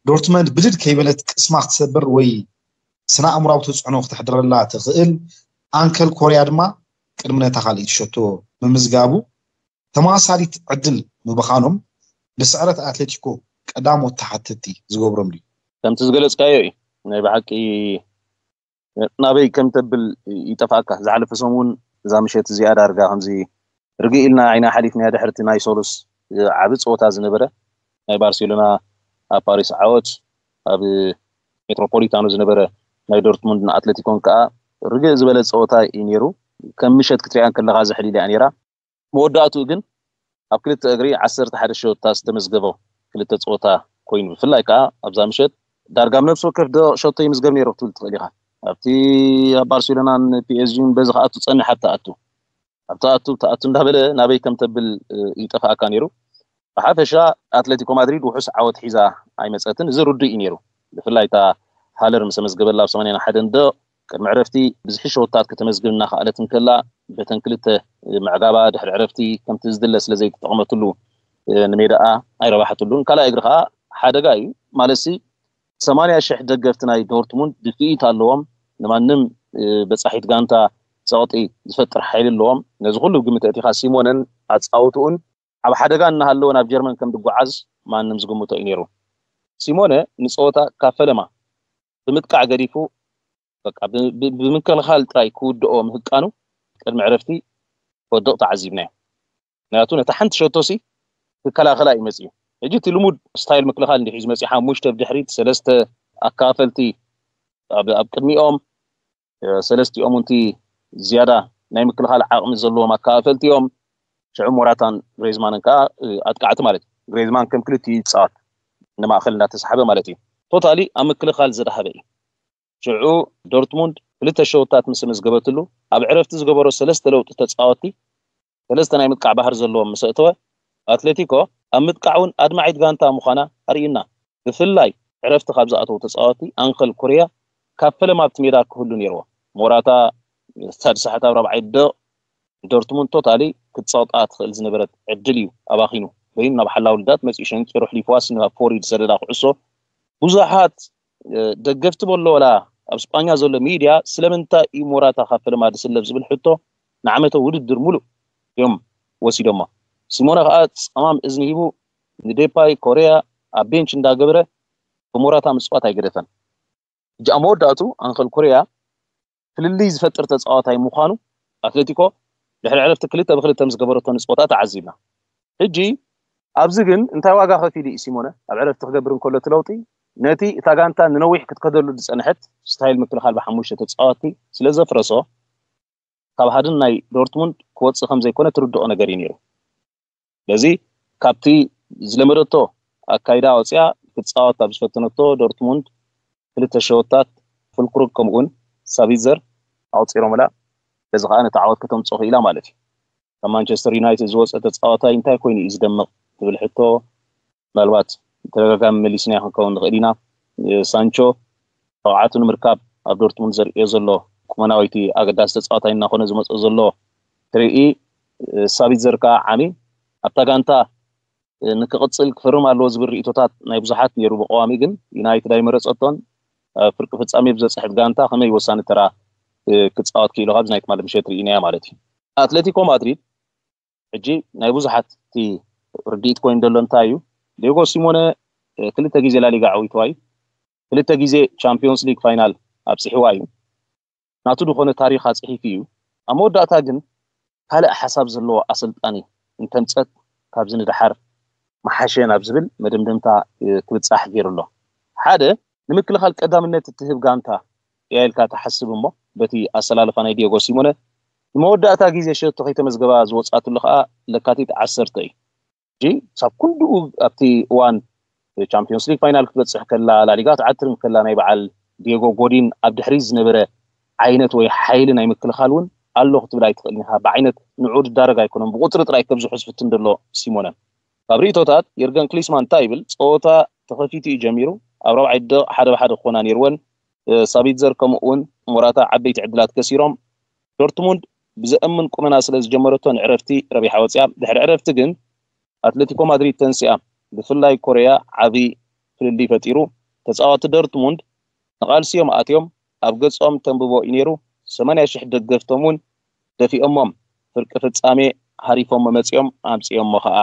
ዶርትመንድ ብድድ ከይበለት ቅስማ ክትሰብር ወይ ስነ ኣእምራዊ ተፅዕኖ ክተሕድረላ ትኽእል ኣንከል ኮርያ ድማ ቅድሚ ነታ ካልኣይቲ ሸቶ ምምዝጋቡ ተመሳሳሊት ዕድል ምብኻኖም ብስዕረት ኣትሌቲኮ ቀዳሞት ተሓተቲ ዝገብሮም ድዩ? ከምቲ ዝገለፅካዮ እዩ ናይ ብሓቂ ናበይ ከም ተብል ይጠፍኣካ። ዝሓለፈ ሰሙን እዛ ምሸት እዚኣ ዳርጋ ከምዚ ርግእ ኢልና ዓይና ሓሊፍናያ ድሕርቲ ናይ ሶሉስ ዓቢ ፀወታ ዝነበረ ናይ ባርሴሎና ኣብ ፓሪስ ዓወት ኣብ ሜትሮፖሊታኖ ዝነበረ ናይ ዶርትሙንድ ንኣትሌቲኮን ከዓ ርግእ ዝበለ ፀወታ እዩ ነይሩ። ከም ምሸት ክትሪኣ ከለካ ዘሕሊል እያ ነይራ። መወዳእትኡ ግን ኣብ ክልተ እግሪ ዓሰርተ ሓደ ሸወታ ዝተመዝገበ ክልተ ፀወታ ኮይኑ፣ ብፍላይ ከዓ ኣብዛ ምሸት ዳርጋ ኣብ ነፍሲ ወከፍ ደቂቕ ሸቶ ይምዝገብ ነይሩ ክትብል ትኽእል ኢኻ። ኣብቲ ኣብ ባርሴሎናን ፒኤስጂን በዚ ክኣቱ ፀኒሓ ትኣቱ፣ ኣብ ትኣቱ ትኣቱ እንዳበለ ናበይ ከም ተብል ይጠፍኣካ ነይሩ። ብሓፈሻ ኣትሌቲኮ ማድሪድ ውሑስ ዓወት ሒዛ ኣይመፀትን። እዚ ርዱእ እዩ ነይሩ። ብፍላይ እታ ሃለር ምስ ኣመዝገበላ ኣብ ሰማንያን ሓደን ደቕ ቅድሚ ዕረፍቲ ብዝሒ ሸወታት ከተመዝግብ እናኸኣለት እንከላ፣ በተን ክልተ ምዕጋባ ድሕሪ ዕረፍቲ ከምቲ ዝድለ ስለ ዘይተጠቕመትሉ ንሜዳኣ ኣይረባሓትሉን። ካልኣይ እግሪ ከዓ ሓደጋ እዩ። ማለትሲ ሰማንያ ሽሕ ደገፍቲ ናይ ዶርትሙንድ ድፍኢት ኣለዎም። ንማንም በፃሒት ጋንታ ፀቕጢ ዝፈጥር ሓይሊ ኣለዎም። ነዚ ኩሉ ግምት ኣእቲኻ ሲሞነን ኣፃውትኡን ኣብ ሓደጋ እናሃለወ ናብ ጀርመን ከም ዝጓዓዝ ማንም ዝግምቶ እዩ ነይሩ። ሲሞነ ንፀወታ ካብ ፈለማ ብምጥቃዕ ገዲፉ፣ በቃ ብ- ብ- ብምክልኻል ጥራይ ክውድኦ ምህቃኑ ቅድሚ ዕረፍቲ ክወድቕ ተዓዚብናዮ። ምክንያቱ ነታ ሓንቲ ሸቶሲ ክከላኸላ እዩ መፅዩ። ሕጂ እቲ ልሙድ ስታይል ምክልኻል እንዲሕ እዩ ዝመፅዩ። ሓሙሽተ ብድሕሪት፣ ሰለስተ ኣካፈልቲ ኣብ ኣብ ቅድሚኦም፣ ሰለስቲኦም እንቲ ዝያዳ ናይ ምክልኻል ዓቕሚ ዘለዎም ኣካፈልቲ እዮም። ሽዑ ሞራታን ግሬዝማንን ከዓ ኣጥቃዕቲ ማለት እዩ። ግሬዝማን ከም ክልቲኡ ይፃወት፣ ንማእኸል እንዳተሳሓበ ማለት እዩ። ቶታሊ ኣብ ምክልኻል ዝደሃበ እዩ። ሽዑ ዶርትሙንድ ክልተ ሸውታት ምስ መዝገበትሉ፣ ኣብ ዕረፍቲ ዝገበሮ ሰለስተ ለውጢ ተፃወትቲ ሰለስተ ናይ ምጥቃዕ ባህር ዘለዎም ምስ ኣእተወ፣ ኣትሌቲኮ ኣብ ምጥቃዕ እውን ኣድማዒት ጋንታ ምዃና ኣርእዩና። ብፍላይ ዕረፍቲ ካብ ዝኣተዉ ተፃወትቲ ኣንኸል ኮርያ ካብ ፈለማ ኣብቲ ሜዳ ክህሉ ነይርዎ። ሞራታ ሳድሳሕት ኣብ ራብዓይ ደቕ ዶርትሙንድ ቶታሊ ክትፀቕጣ ትኽእል ዝነበረት ዕድል እዩ ኣባኺኑ። በይኑ ናብ ሓላው ልዳት መፂኡ ሸንቂሩ ኣሕሊፍዋስ ናብ ፎሪድ ዝሰደዳ ኩዕሶ ብዙሓት ደገፍቲ በሎ ወላ ኣብ ስጳኛ ዘሎ ሚድያ ስለምንታይ እዩ ሞራታ ካብ ፈለማ ዝስለፍ ዝብል ሕቶ ንዓመተ ውድድር ሙሉእ እዮም ወሲዶሞ። ሲሞነ ከዓ ፀማም እዝኒ ሂቡ ንዴፓይ ኮርያ ኣብ ቤንች እንዳገበረ ብሞራታ ምፅዋት ኣይገደፈን። ሕጂ ኣብ መወዳእቱ ኣንኸል ኮርያ ፍልልይ ዝፈጥር ተፃዋታይ ምዃኑ ኣትሌቲኮ ድሕሪ ዕረፍቲ ክልተ ብክልተ ምስ ገበረቶ ንፅወታ ተዓዚብና። ሕጂ ኣብዚ ግን እንታይ ዋጋ ከፊሉ እዩ ሲሞነ ኣብ ዕረፍቲ ክገብር እንከሎ እቲ ለውጢ? ነቲ እታ ጋንታ ንነዊሕ ክትከደሉ ዝፀንሐት ስታይል ምክልኻል ብሓሙሽተ ተፃዋቲ ስለ ዘፍረሶ ካብ ሃድን ናይ ዶርትሙንድ ክወፅእ ከም ዘይኮነ ትርድኦ ነገር እዩ ነይሩ። ስለዚ ካብቲ ዝለመደቶ ኣካይዳ ወፅያ ክትፃወት ኣብ ዝፈተነቶ ዶርትሙንድ ክልተ ሸወታት ፍልክሩግ ከምኡውን ሳቢዘር ኣቁፂሮምላ። በዚ ከዓ ነቲ ዓወት ከተምፅኦ ክኢላ ማለት እዩ። ካብ ማንቸስተር ዩናይትድ ዝወፀ ተፃዋታይ እንታይ ኮይኑ እዩ ዝደምቕ ትብል ሕቶ ምናልባት ተደጋጋሚ መሊስና ክንከውን ንኽእል ኢና። ሳንቾ ብቕዓቱ ንምርካብ ኣብ ዶርትሙንድ ዘርእዮ ዘሎ ቁመናዊቲ ኣገዳሲ ተፃዋታይ እናኾነ ዝመፅኦ ዘሎ ትርኢ ሳቢት ዘርካ ዓሚ ኣብታ ጋንታ ንክቕፅል ክፍርም ኣለዎ ዝብል ርእቶታት ናይ ብዙሓት ነይሩ። ብቀዋሚ ግን ዩናይትድ ኣይመረፀቶን። ኣብ ፍርቂ ፍፃሜ ብዘፅሕት ጋንታ ከመይ ወሳኒ ተራ ክፃወት ክኢሉ ካብዚ ናይ ትማሊ ምሸት ርኢናያ ማለት እዩ። ኣትሌቲኮ ማድሪድ ሕጂ ናይ ብዙሓት እቲ ርድኢት ኮይኑ ዘሎ እንታይ እዩ? ዲዮጎ ሲሞነ ክልተ ግዜ ላሊጋ ዓዊትዋ እዩ። ክልተ ግዜ ቻምፒዮንስ ሊግ ፋይናል ኣብፅሕዋ እዩ። ናቱ ዝኾነ ታሪኽ ኣፅሒፉ እዩ። ኣብ መወዳእታ ግን ካልእ ሓሳብ ዘለዎ ኣሰልጣኒ እንተምፀት ካብዚ ንደሓር መሓሸ ናብ ዝብል መደምደምታ ክብፃሕ ገይሩ ኣሎ። ሓደ ንምክልኻል ቀዳምነት እትህብ ጋንታ እያ ኢልካ ትሓስብ እሞ በቲ ኣሰላልፋ ናይ ዲዮጎ ሲሞነ ንመወዳእታ ግዜ ሸቶ ከይተመዝገባ ዝወፃትሉ ከዓ ለካቲት ዓሰርተ እዩ። ሕጂ ሳብ ኩንድኡ ኣብቲ እዋን ቻምፒዮንስ ሊግ ፋይናል ክትበፅሕ ከላ ላሊጋ ትዓትርም ከላ ናይ በዓል ዲዮጎ ጎዲን ኣብ ድሕሪት ዝነበረ ዓይነት ወይ ሓይሊ ናይ ምክልኻል እውን ኣሎ ክትብል ኣይትኽእልን ኢኻ። ብዓይነት ንዑ ዝዳረግ ኣይኮነን፣ ብቁፅሪ ጥራይ ከብዝሑ ዝፍትን ዘሎ ሲሞነ። ካብ ርእቶታት የርገን ክሊስማን እንታይ ይብል? ፀወታ ተኸፊቱ እዩ ጀሚሩ። ኣብ ራብዓይ ደቕ ሓደ ብሓደ ክኾና ነይርወን። ሳቢትዘር ከምኡ እውን ሞራታ ዓበይቲ ዕድላት ከሲሮም። ዶርትሙንድ ብዘእምን ቁመና ስለ ዝጀመረቶ ንዕረፍቲ ረቢሓ ወፂኣ። ድሕሪ ዕረፍቲ ግን ኣትሌቲኮ ማድሪድ ተንሲኣ። ብፍላይ ኮርያ ዓቢ ፍልልይ ፈጢሩ። ተፃወቲ ዶርትሙንድ ንቓልሲ እዮም ኣትዮም። ኣብ ገጾም ተንብቦ እዩ ነይሩ። ሰማንያ ሽሕ ደገፍቶም እውን ደፊኦሞም። ፍርቂ ፍጻሜ ሃሪፎሞ መጺኦም ኣምጺኦሞ ኸኣ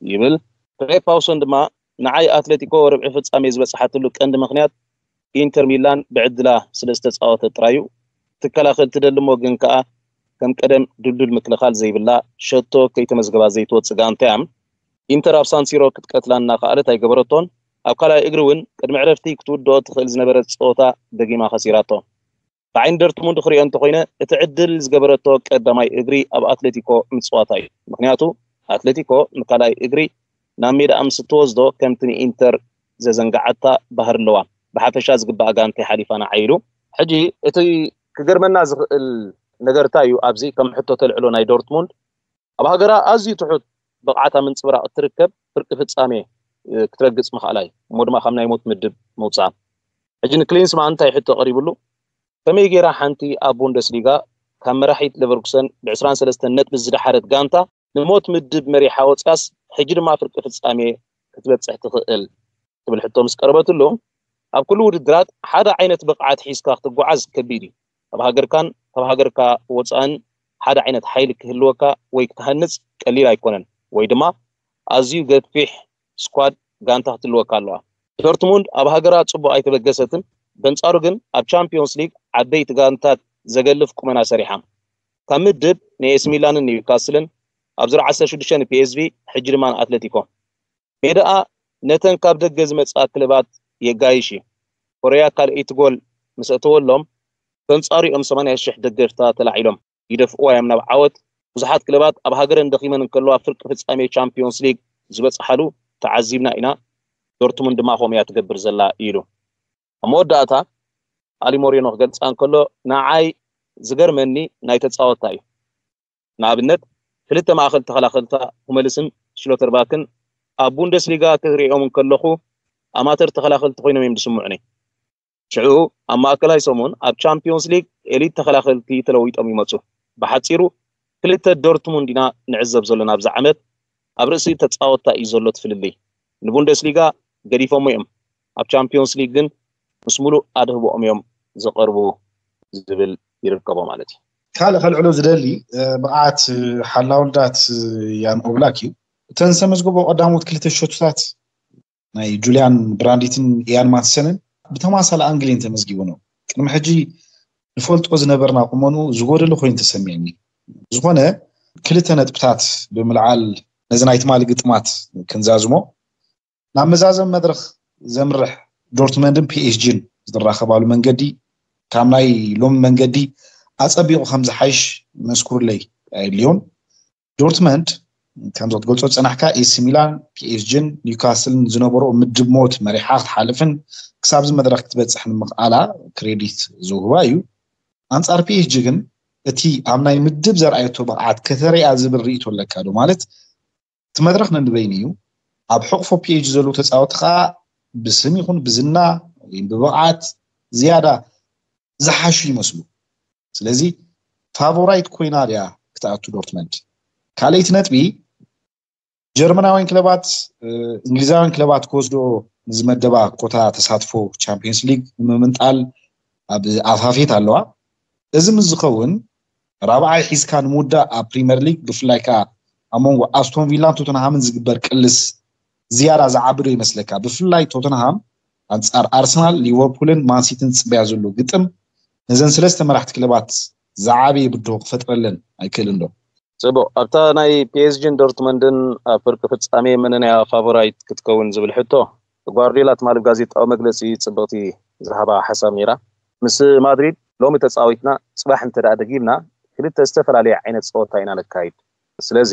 ይብል። ትሬ ፓውሰን ድማ ንዓይ ኣትሌቲኮ ርብዒ ፍጻሜ ዝበጽሓትሉ ቀንዲ ምኽንያት ኢንተር ሚላን ብዕድላ ስለ ዝተጻወተት ጥራይ እዩ። ክትከላኸል ትደሊ እሞ ግን ከኣ ከም ቀደም ድልዱል ምክልኻል ዘይብላ፣ ሸቶ ከይተመዝገባ ዘይትወጽእ ጋንታ እያ። ኢንተር ኣብ ሳንሲሮ ክትቀትላ እናኸኣለት ኣይገበረቶን። ኣብ ካልኣይ እግሪ እውን ቅድሚ ዕረፍቲ ክትውድኦ ትኽእል ዝነበረት ጸወታ ደጊማ ከሲራቶ። ብዓይኒ ዶርትሙንድ ክሪኦ እንተኾይነ፣ እቲ ዕድል ዝገበረቶ ቀዳማይ እግሪ ኣብ ኣትሌቲኮ ምጽዋታ እዩ። ምኽንያቱ ኣትሌቲኮ ንካልኣይ እግሪ ናብ ሜዳኣ ምስ እትወስዶ ከምቲ ንኢንተር ዘዘንግዓታ ባህሪ ኣለዋ። ብሓፈሻ ዝግባኣ ጋንታ ሓሊፋ ንዓ ኢሉ። ሕጂ እቲ ክገርመና ዝኽእል ነገር እንታይ እዩ? ኣብዚ ከም ሕቶ ተልዕሎ ናይ ዶርትሙንድ ኣብ ሃገራ ኣዝዩ ትሑት ብቕዓት ኣብ ምንጽብራቕ እትርከብ ፍርቂ ፍጻሜ ክትረግጽ ምኽኣላ እዩ። እሞ ድማ ካብ ናይ ሞት ምድብ ምውጻኣ። ሕጂ ንክሊንስማን እንታይ ሕቶ ቀሪብሉ? ከመይ ገይራ ሓንቲ ኣብ ቡንደስሊጋ ካብ መራሒት ሌቨርኩሰን ብ23 ነጥቢ ዝደሓረት ጋንታ ንሞት ምድብ መሪሓ ወጽያስ ሕጂ ድማ ፍርቂ ፍጻሜ ክትበጽሕ ትኽእል? ትብል ሕቶ ምስ ቀረበትሉ፣ ኣብ ኩሉ ውድድራት ሓደ ዓይነት ብቕዓት ሒዝካ ክትጓዓዝ ከቢድ እዩ። ኣብ ሃገርካን ካብ ሃገርካ ወጻእን ሓደ ዓይነት ሓይሊ ክህልወካ ወይ ክትሃንጽ ቀሊል ኣይኮነን፣ ወይ ድማ ኣዝዩ ገፊሕ ስኳድ ጋንታ ክትህልወካ ኣለዋ። ዶርትሙንድ ኣብ ሃገራ ጽቡቕ ኣይተበገሰትን፣ በንጻሩ ግን ኣብ ቻምፒዮንስ ሊግ ዓበይቲ ጋንታት ዘገልፍ ቁመና ሰሪሓ። ካብ ምድብ ንኤሲ ሚላንን ኒውካስልን ኣብ ዙር 16 ንፒኤስቪ፣ ሕጂ ድማ ንኣትለቲኮ። ሜዳኣ ነተን ካብ ደገ ዝመጻ ክለባት የጋይሽ እዩ። ኮርያ ካልኣይቲ ጎል ምስ ኣተወሎም፣ በንጻሩ እዮም 80,000 ደገፍታ ተላዒሎም ይደፍእዋ እዮም ናብ ዓወት። ብዙሓት ክለባት ኣብ ሃገረን ደኺመን እንከለዋ ፍርቂ ፍጻሜ ቻምፒዮንስ ሊግ ዝበጽሓሉ ተዓዚብና ኢና። ዶርትሙንድ ድማ ከምኡ እያ ትገብር ዘላ ኢሉ። ኣብ መወዳእታ ኣሊ ሞሪኖ ክገልጻ እንከሎ፣ ንዓይ ዝገርመኒ ናይ ተጻወትታ እዩ። ንኣብነት ክልተ ማእኸል ተኸላኸልታ ሁመልስን ሽሎተርባክን ኣብ ቡንደስሊጋ ክሪኦም እንከለኹ ኣማተር ተኸላኸልቲ ኮይኖም እዮም ዝስምዑኒ። ሽዑ ኣብ ማእከላይ ሰሙን ኣብ ቻምፒዮንስ ሊግ ኤሊት ተኸላኸልቲ ተለዊጦም ይመጹ። ብሓጺሩ ክልተ ዶርትሙንድ ኢና ንዕዘብ ዘለና ኣብዚ ዓመት። ኣብ ርእሲ ተጻወትታ እዩ ዘሎ እቲ ፍልልይ። ንቡንደስሊጋ ገዲፎሞ እዮም። ኣብ ቻምፒዮንስ ሊግ ግን ምስ ሙሉእ ኣድህቦኦም እዮም ዝቐርቡ ዝብል ይርከቦ ማለት እዩ። ካልእ ከልዕሎ ዝደሊ ብቕዓት ሓላው ልዳት ያን ኦብላክ እዩ። እተን ዝተመዝገቦ ቀዳሞት ክልተ ሸቶታት ናይ ጁልያን ብራንዲትን ኢያን ማትሰንን ብተማሳሊ ኣንግል እየን ተመዝጊቡ ነው። ቅድሚ ሕጂ ንፈልጦ ዝነበርና ቁመኑ ዝጎደለ ኮይኑ ተሰሚዕኒ። ዝኾነ ክልተ ነጥብታት ብምልዓል ነዚ ናይ ትማሊ ግጥማት ክንዛዝሞ፣ ናብ መዛዘም መድረኽ ዘምርሕ ዶርትመንድን ፒኤስጂን ዝራኸባሉ መንገዲ ካብ ናይ ሎሚ መንገዲ ኣጸቢቑ ከም ዝሓይሽ መስኩርለይ ኣየድልዮን። ዶርትመንድ ከምዚ ክትገልጾ ዝጸናሕካ ኤሲ ሚላን፣ ፒኤስጂን ኒውካስልን ዝነበሮ ምድብ ሞት መሪሓ ክትሓልፍን ክሳብዚ መድረኽ ክትበጽሕ ንምኽኣላ ክሬዲት ዝውህባ እዩ። ኣንጻር ፒኤስጂ ግን እቲ ኣብ ናይ ምድብ ዘርኣየቶ ብቕዓት ከተርእያ ዝብል ርእይቶ ኣለካ ዶ? ማለት እቲ መድረኽ ነንበይኑ እዩ። ኣብ ሕቕፎ ፒኤስጂ ዘለዉ ተጻወቲ ከኣ ብስም ይኹን ብዝና ወይ ብብቕዓት ዝያዳ ዝሓሹ ይመስሉ። ስለዚ ፋቮራይት ኮይና ድያ ክትኣቱ ዶርትመንድ? ካልኣይቲ ነጥቢ፣ ጀርመናውያን ክለባት እንግሊዛውያን ክለባት ክወስዶ ንዝመደባ ኮታ ተሳትፎ ቻምፒዮንስ ሊግ ንምምንጣል ኣብ ኣፋፌት ኣለዋ። እዚ ምስ ዝኸውን ራብዓይ ሒዝካ ንምውዳእ ኣብ ፕሪምየር ሊግ ብፍላይ ከኣ ኣብ መንጎ ኣስቶን ቪላን ቶተንሃምን ዝግበር ቅልስ ዝያዳ ዝዓቢ ዶ ይመስለካ? ብፍላይ ቶተንሃም ኣንጻር ኣርሰናል፣ ሊቨርፑልን ማንሲቲን ዝጽበያ ዘሎ ግጥም ነዘን ሰለስተ መራሕቲ ክለባት ዝዓበየ ብድሆ ክፈጥረለን ኣይክእልን ዶ? ጽቡቕ፣ ኣብታ ናይ ፒኤስጂን ዶርትመንድን ኣብ ፍርቂ ፍጻሜ መነንያ ፋቮራይት ክትከውን ዝብል ሕቶ፣ ጓርዲዮላ ትማሊ ጋዜጣዊ መግለጺ ጽብቕቲ ዝሃባ ሓሳብ ነይራ። ምስ ማድሪድ ሎሚ ተጻዊትና፣ ጽባሕ እንተ ደኣ ደጊምና ክልተ ዝተፈላለየ ዓይነት ጸወታ ኢና ነካይድ። ስለዚ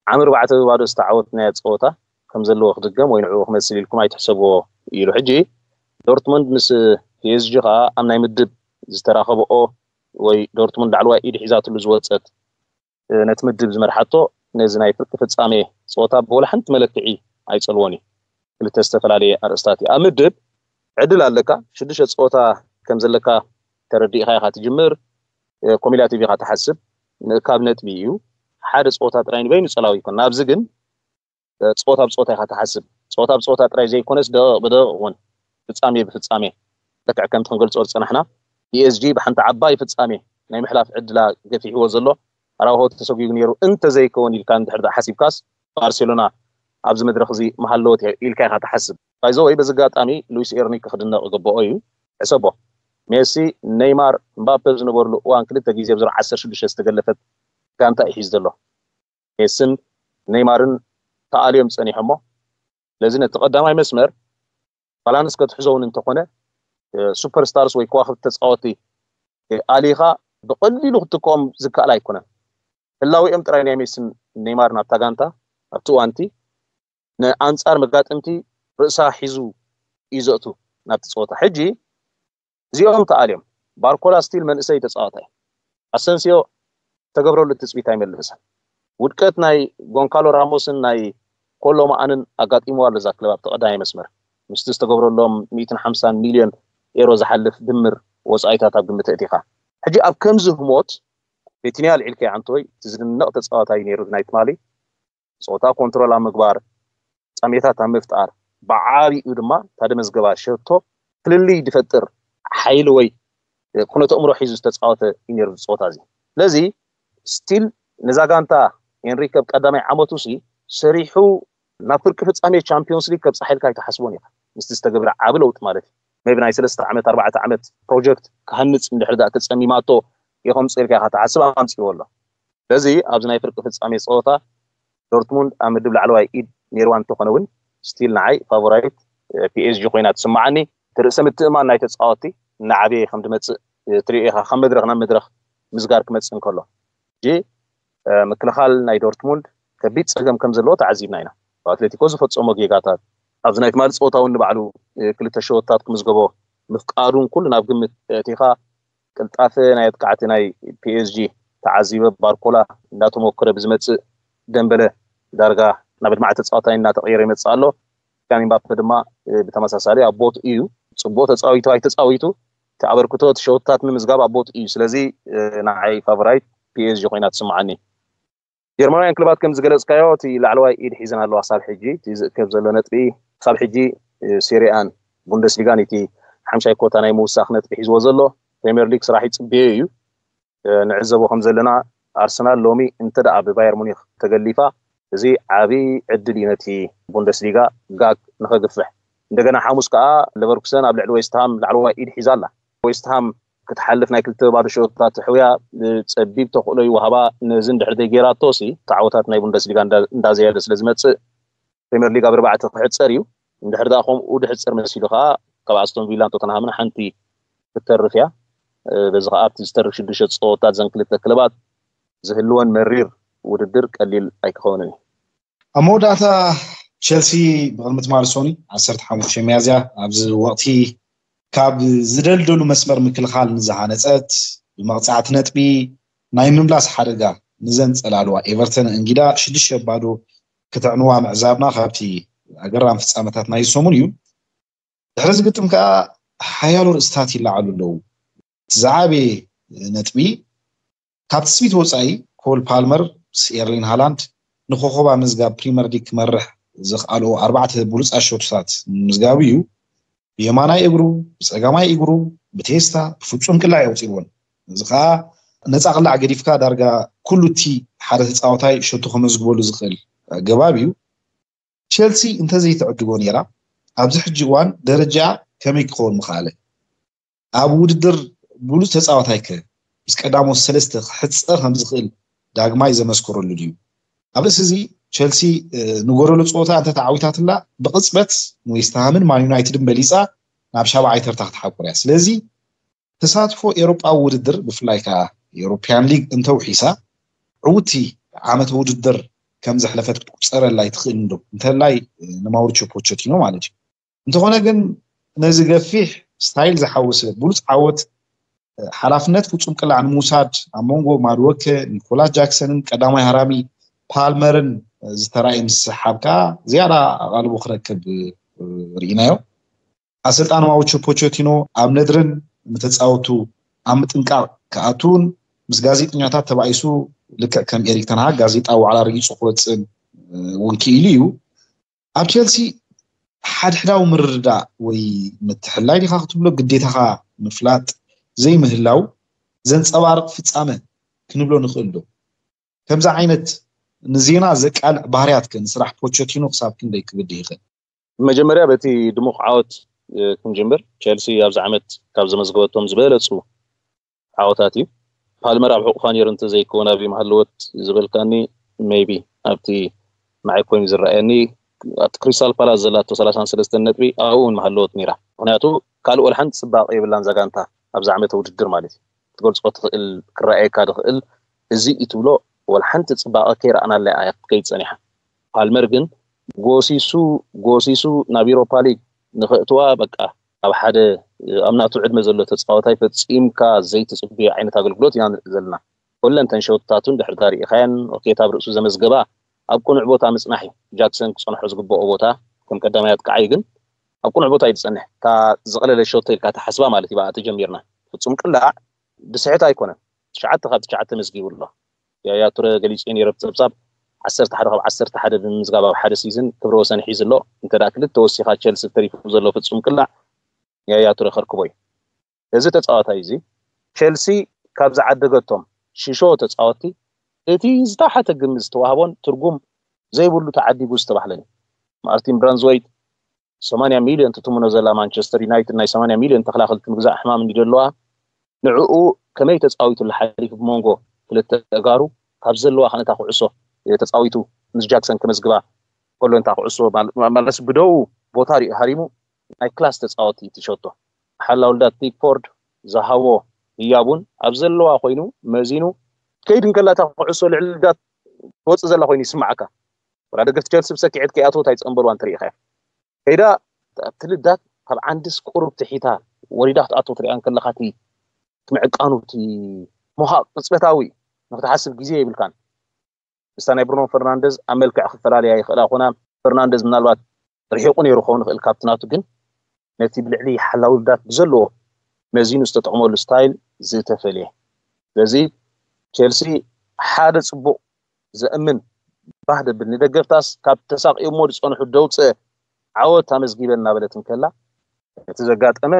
ዓሚ ኣርባዕተ ብባዶ ዝተዓወትናዮ ጸወታ ከም ዘለዎ ክድገም ወይ ንዕኡ ክመስል ኢልኩም ኣይትሕሰብዎ ኢሉ። ሕጂ ዶርትሙንድ ምስ ፒኤስጂ ከኣ ኣብ ናይ ምድብ ዝተራኸብኦ ወይ ዶርትሙንድ ላዕለዋይ ኢድ ሒዛትሉ ዝወጸት ነቲ ምድብ ዝመርሓቶ ነዚ ናይ ፍርቂ ፍጻሜ ጸወታ ብወላ ሓንቲ መለክዒ ኣይጸልዎን እዩ። ክልተ ዝተፈላለየ ኣርእስታት እዩ። ኣብ ምድብ ዕድል ኣለካ፣ ሽዱሽተ ጸወታ ከም ዘለካ ተረዲእካ ኢኻ ትጅምር። ኮሚላቲቭ ኢኻ ትሓስብ፣ ምእካብ ነጥቢ እዩ። ሓደ ጸወታ ጥራይ ንበይኑ ጸላዊ ይኮን። ናብዚ ግን ጸወታ ብጸወታ ኢኻ ትሓስብ። ጸወታ ብጸወታ ጥራይ ዘይኮነስ ደቂቕ ብደቂቕ እውን ፍጻሜ ብፍጻሜ ልክዕ ከምቲ ክንገልጾ ዝጸናሕና ፒኤስጂ ብሓንቲ ዓባይ ፍጻሜ ናይ ምሕላፍ ዕድላ ገፊሕዎ ዘሎ ኣራውሆ ተሰጒጉ ነይሩ እንተዘይከውን ኢልካ እንድሕር ደኣ ሓሲብካስ ባርሴሎና ኣብዚ መድረኽ እዚ ምሃለወት ኢልካ ኢኻ ትሓስብ። ባይዘወይ በዚ ኣጋጣሚ ሉዊስ ኤርኒክ ክድነቕ ይግብኦ እዩ። ሕሰቦ ሜሲ፣ ኔይማር፣ ምባፔ ዝነበርሉ እዋን ክልተ ግዜ ብዝሮ 16 ዝተገለፈት ጋንታ እዩ ሒዙ ዘሎ። ሜስን ኔይማርን ተኣልዮም ጸኒሖሞ። ስለዚ ነቲ ቀዳማይ መስመር ባላንስ ክትሕዞ እውን እንተኾነ፣ ሱፐር ስታርስ ወይ ከዋክብቲ ተፃወቲ ኣሊኻ ብቐሊሉ ክትጥቀም ዝከኣል ኣይኮነን። ህላዊኦም ጥራይ ናይ ሜስን ኔይማርን ኣብታ ጋንታ ኣብቲ እዋንቲ ንኣንፃር መጋጥምቲ ርእሳ ሒዙ እዩ ዘእቱ ናብቲ ፀወታ። ሕጂ እዚኦም ተኣልዮም፣ ባርኮላ ስቲል መንእሰይ ተፃዋታይ፣ ኣሰንሲዮ ተገብረሉ ትፅቢት ኣይመልስን። ውድቀት ናይ ጎንካሎ ራሞስን ናይ ኮሎ መኣንን ኣጋጢምዋ ኣሎ እዛ ክለብ ኣብቲ ቀዳማይ መስመር። ምስቲ ዝተገብረሎም ሚእትን ሓምሳን ሚልዮን ኤሮ ዝሓልፍ ድምር ወፃኢታት ኣብ ግምት እቲኻ፣ ሕጂ ኣብ ከምዚ ህሞት ቪቲንያ ኣልዒልካዮ ኣንቶይ፣ እቲ ዝድነቕ ተፃዋታይ ነይሩ ናይ ትማሊ። ፀወታ ኮንትሮል ኣብ ምግባር፣ ፃሜታት ኣብ ምፍጣር፣ ብዓቢኡ ድማ እታ ደመዝገባ ሸቶ ፍልልይ ዝፈጥር ሓይሊ ወይ ኩነተ ኣእምሮ ሒዙ ዝተፃወተ እዩ ነይሩ እዚ ፀወታ እዚ። ስለዚ ስቲል ነዛ ጋንታ ኤንሪክ ኣብ ቀዳማይ ዓመቱ ሲ ሰሪሑ ናብ ፍርቂ ፍፃሜ ቻምፒዮንስ ሊግ ከብፅሓ ኢልካ ኣይትሓስቦን ኢኻ። ምስቲ ዝተገብረ ዓቢ ለውጢ ማለት እዩ። ሜቢ ናይ ሰለስተ ዓመት ኣርባዕተ ዓመት ፕሮጀክት ክሃንፅ እንድሕር ዳኣ ተፀሚማቶ ይኸምፅእ ኢልካ ኢኻ ትሓስብ፣ ኣምፅእዎ ኣሎ። ስለዚ ኣብዚ ናይ ፍርቂ ፍፃሜ ፀወታ ዶርትሙንድ ኣብ ምድብ ላዕለዋይ ኢድ ነይርዋ እንተኾነ እውን ስቲል ንዓይ ፋቮራይት ፒኤስጂ ኮይና ትስምዓኒ። እቲ ርእሰ ምትእማን ናይ ተፃወቲ እናዓበየ ከም ዝመፅእ ትሪኦ ኢኻ፣ ካብ መድረኽ ናብ መድረኽ ምስጋር ክመፅእ እንከሎ። ሕጂ ምክልኻል ናይ ዶርትሙንድ ከቢድ ፀገም ከም ዘለዎ ተዓዚብና ኢና። ኣትሌቲኮ ዝፈፀሞ ጌጋታት፣ ኣብዚ ናይ ትማሊ ፀወታ እውን ንባዕሉ ክልተ ሸወታት ክምዝገቦ ምፍቃዱን ኩሉ ናብ ግምት ኣእቲኻ፣ ቅልጣፈ ናይ ኣጥቃዕቲ ናይ ፒኤስጂ ተዓዚበ። ባርኮላ እንዳተሞከረ ብዝመፅእ ደምበለ ዳርጋ ናብ ኣድማዒ ተፃዋታይ እናተቐየረ ይመፅእ ኣሎ። ኪልያን ምባፔ ድማ ብተመሳሳሊ ኣብ ቦት እዩ ፅቡቅ ተፃዊቱ ኣይተፃዊቱ እቲ ኣበርክቶ እቲ ሸወታት ንምዝጋብ ኣብ ቦት እዩ። ስለዚ ንዓይ ፋቨራይት ፒኤስጂ ኮይና ትስምዓኒ። ጀርመናውያን ክለባት ከም ዝገለፅካዮ እቲ ላዕለዋይ ኢድ ሒዘን ኣለዋ ክሳብ ሕጂ። እቲ ዝእከብ ዘሎ ነጥቢ ክሳብ ሕጂ ሴሪኣን ቡንደስሊጋን እቲ ሓምሻይ ኮታ ናይ ምውሳኽ ነጥቢ ሒዝዎ ዘሎ። ፕሪምየር ሊግ ስራሕ ይፅበዮ እዩ። ንዕዘቦ ከም ዘለና ኣርሰናል ሎሚ እንተ ደኣ ብባየር ሙኒክ ተገሊፋ፣ እዚ ዓቢ ዕድል እዩ ነቲ ቡንደስሊጋ ጋግ ንኸግፍሕ። እንደገና ሓሙስ ከኣ ለቨርኩሰን ኣብ ልዕሊ ዌስትሃም ላዕለዋይ ኢድ ሒዛ ኣላ። ዌስትሃም ክትሓልፍ ናይ ክልተ ባዶ ሸወታት ተሕውያ፣ ጸቢብ ተኽእሎ ይወሃባ። ነዚ እንድሕር ዘይጌራቶ ሲ ተዓወታት ናይ ቡንደስሊጋ እንዳ- እንዳዘየደ ስለ ዝመጽእ ፕሪምየር ሊግ ኣብ ኣርባዕተ ክሕጸር እዩ። እንድሕር ደኣ ከምኡ ድሕጸር መሲሉ ከኣ ካብ ኣስቶን ቪላን ቶተንሃምን ሓንቲ ክትተርፍ እያ። በዚ ከኣ ኣብቲ ዝተርፍ ሽዱሽተ ጸወታት ዘን ክልተ ክለባት ዝህልወን መሪር ውድድር ቀሊል ኣይክኸውንን እዩ። ኣብ መወዳእታ ቸልሲ ብቕድሚ ትማሊ ሶኒ ዓሰርተ ሓሙሽተ ሚያዝያ ኣብዚ ወቕቲ ካብ ዝደልደሉ መስመር ምክልኻል ንዝሃነፀት ብመቕፃዕቲ ነጥቢ ናይ ምምላስ ሓደጋ ንዘንፀላልዋ ኤቨርተን እንጊዳ ሽዱሽተ ባዶ ክትዕንዋ ምዕዛብና ካብቲ ኣገራሚ ፍፃመታት ናይ ሰሙን እዩ። ድሕሪ ዝግጥም ከዓ ሓያሎ ርእስታት ይለዓሉ ኣለዉ። እቲ ዝዓበየ ነጥቢ ካብ ትፅቢት ወፃኢ ኮል ፓልመር ምስ ኤርሊን ሃላንድ ንኮኸባ ምዝጋብ ፕሪመር ሊግ ክመርሕ ዘኽኣልኦ ኣርባዕተ ብሉፃት ሸቶታት ምምዝጋቡ እዩ። ብየማናይ እግሩ፣ ብፀጋማይ እግሩ፣ ብቴስታ ብፍፁም ቅላዕ የውፂእዎን። እዚ ከዓ ነፃ ቅላዕ ገዲፍካ ዳርጋ ኩሉ እቲ ሓደ ተፃወታይ ሸቶ ከመዝግበሉ ዝኽእል ኣገባብ እዩ። ቸልሲ እንተዘይትዕድጎ ነይራ ኣብዚ ሕጂ እዋን ደረጃ ከመይ ክኸውን ምኽኣለ? ኣብ ውድድር ብሉፅ ተፃዋታይ ከ ምስ ቀዳሞት ሰለስተ ክሕፀር ከም ዝኽእል ዳግማይ ዘመስከረሉ ድዩ? ኣብ ርእሲ እዚ ቸልሲ ንጎደሎ ፀወታ እንተተዓዊታትላ ብቕፅበት ንዌስትሃምን ማን ዩናይትድን በሊፃ ናብ ሻብዓይ ተርታ ክትሓቁር እያ። ስለዚ ተሳትፎ ኤሮጳዊ ውድድር ብፍላይ ከዓ ኤሮፒያን ሊግ እንተውሒሳ ዕውቲ ዓመት ውድድር ከም ዘሕለፈት ክትቁፀረላ ይትኽእል እንዶ እንተላይ ንማውሪቾ ፖቸቲኖ ማለት እዩ። እንተኾነ ግን ነዚ ገፊሕ ስታይል ዝሓወሰ ብሉፅ ዓወት ሓላፍነት ፍፁም ቅላዕ ንምውሳድ ኣብ መንጎ ማድወከ፣ ኒኮላስ ጃክሰንን ቀዳማይ ሃራሚ ፓልመርን ዝተራእየ ምስሓብ ከዓ ዝያዳ ኣቓልቦ ክረክብ ርኢናዮ። ኣሰልጣን ማውሪቾ ፖቸቲኖ ኣብ ነድርን ንተፃወቱ ኣብ ምጥንቃቕ ክኣቱን ምስ ጋዜጠኛታት ተባኢሱ ልክዕ ከም ኤሪክ ተንሃግ ጋዜጣ ዋዕላ ረጊፁ ክወፅእን እውን ክኢሉ እዩ። ኣብ ቸልሲ ሓድሕዳዊ ምርድዳእ ወይ ምትሕላይ ዲኻ ክትብሎ ግዴታኻ ምፍላጥ ዘይምህላው ዘንፀባርቕ ፍፃመ ክንብሎ ንኽእል ዶ? ከምዚ ዓይነት ንዜና ዘቃልዕ ባህርያት ከ ንስራሕ ፖቸቲኖ ክሳብ ክንደይ ክብድህ ይኽእል? መጀመርያ በቲ ድሙቕ ዓወት ክንጅምር። ቸልሲ ኣብዚ ዓመት ካብ ዘመዝገበቶም ዝበለፁ ዓወታት እዩ። ፓልመር ኣብ ሕቑፋ ነይሩ እንተዘይከውን ኣብዩ ምሃለወት ዝበልካኒ ሜይቢ ኣብቲ ንዓይ ኮይኑ ዝረኣየኒ ኣብቲ ክሪስታል ፓላስ ዘላቶ ሰላሳን ሰለስተን ነጥቢ ኣብኡ እውን መሃለወት ነይራ። ምክንያቱ ካልእ ወልሓንቲ ፅባቐ የብላን ዛጋንታ ኣብዚ ዓመተ ውድድር ማለት እዩ። ክትገልፆ ትኽእል፣ ክረኣየካ ትኽእል፣ እዚ እዩ ትብሎ ወልሓንቲ ፅባቐ ከይረኣናላ እያ ክትከይድ ፀኒሓ። ፓልመር ግን ጎሲሱ ጎሲሱ ናብ ኢሮፓ ሊግ ንኸእትዋ በቃ ኣብ ሓደ ኣብ ናቱ ዕድመ ዘሎ ተፃዋታይ ፈፂምካ ዘይትፅብዮ ዓይነት ኣገልግሎት ኢና ንርኢ ዘለና። ኩለን ተን ሸውትታቱን ድሕር ዳር ኢኻያን ኦኬት ኣብ ርእሱ ዘመዝገባ ኣብ ቅኑዕ ቦታ ምፅናሕ እዩ ጃክሰን ክፀንሖ ዝግበኦ ቦታ። ከም ቀዳማይ ኣጥቃዓይ ግን ኣብ ቅኑዕ ቦታ እዩ ዝፀንሕ። እታ ዝቐለለ ሸቶ ኢልካ ተሓስባ ማለት እዩ ብኣ ተጀሚርና። ፍፁም ቅላዕ ብስሕት ኣይኮነን። ትሽዓተ ካብ ትሽዓተ መዝጊቡ ኣሎ። ያያ ቱረ ገሊፁ ነይረ ብፀብፃብ ዓሰርተ ሓደ ካብ ዓሰርተ ሓደ ብምምዝጋብ ኣብ ሓደ ሲዝን ክብረ ወሰን ሒዙ ኣሎ። እንተ ደኣ ክልተ ወሲኻ ቸልሲ ተሪፉ ዘሎ ፍፁም ቅላዕ ያያ ቱረ ከርክቦ እዩ። እዚ ተፃዋታይ እዚ ቸልሲ ካብ ዝዓደገቶም ሽሾ ተፃወትቲ እቲ ዝተሓተ ግምት ዝተዋህቦን ትርጉም ዘይብሉ ተዓዲጉ ዝተባህለን እዩ። ማርቲን ብራንዝወይት ሰማንያ ሚልዮን ትትምኖ ዘላ ማንቸስተር ዩናይትድ ናይ ሰማንያ ሚልዮን ተኸላኸልቲ ምግዛእ ሕማም እንዲ ዘለዋ ንዕኡ ከመይ ተፃዊቱሉ ሓሊፉ ብመንጎ ክልተ ተጋሩ ካብ ዘለዋ ከነታ ኩዕሶ ተፃዊቱ ምስ ጃክሰን ከመዝግባ ከሎ እንታ ኩዕሶ ማለስ ብደው ቦታ ሪኡ ሃሪሙ ናይ ክላስ ተፃወቲ ትሸቶ ሓላውልዳት ፒክፎርድ ዝሃቦ ህያቡን ኣብ ዘለዋ ኮይኑ መዚኑ ከይድ እንከላታ ኩዕሶ ልዕሊ ልዳት ትወፅእ ዘላ ኮይኑ ይስማዓካ። ወላ ደገፍቲ ቸልሲ ብሰኪዐት ከይኣትወት ኣይፀንበልዋን ትርኢ ኢኻ። ከይዳ ኣብቲ ልዳት ካብ ዓንድስ ቁሩብ ትሒታ ወሪዳ ክትኣትወ ትሪኣ እንከለኻ እቲ ምዕቃኑ እቲ ምዃእ ቅፅበታዊ ንክትሓስብ ግዜ የብልካን። ምስታ ናይ ብሩኖ ፈርናንደዝ ኣብ መልክዕ ክፈላለያ ይኽእላ ኮና ፈርናንደዝ ምናልባት ርሒቑ ነይሩ ክኸውን ይኽእል ካብቲ ናቱ ግን ነቲ ብልዕሊ ሓላዊ ልዳት ብዘለዎ መዚኑ ዝተጠቕመሉ ስታይል ዝተፈልየ። ስለዚ ቸልሲ ሓደ ፅቡቕ ዘእምን ባህ ደብል ንደገፍታስ ካብ ተሳቂዮሞ ዝፀንሑ ደውፅእ ዓወት ኣመዝጊበ እናበለት እንከላ እቲ ዘጋጠመ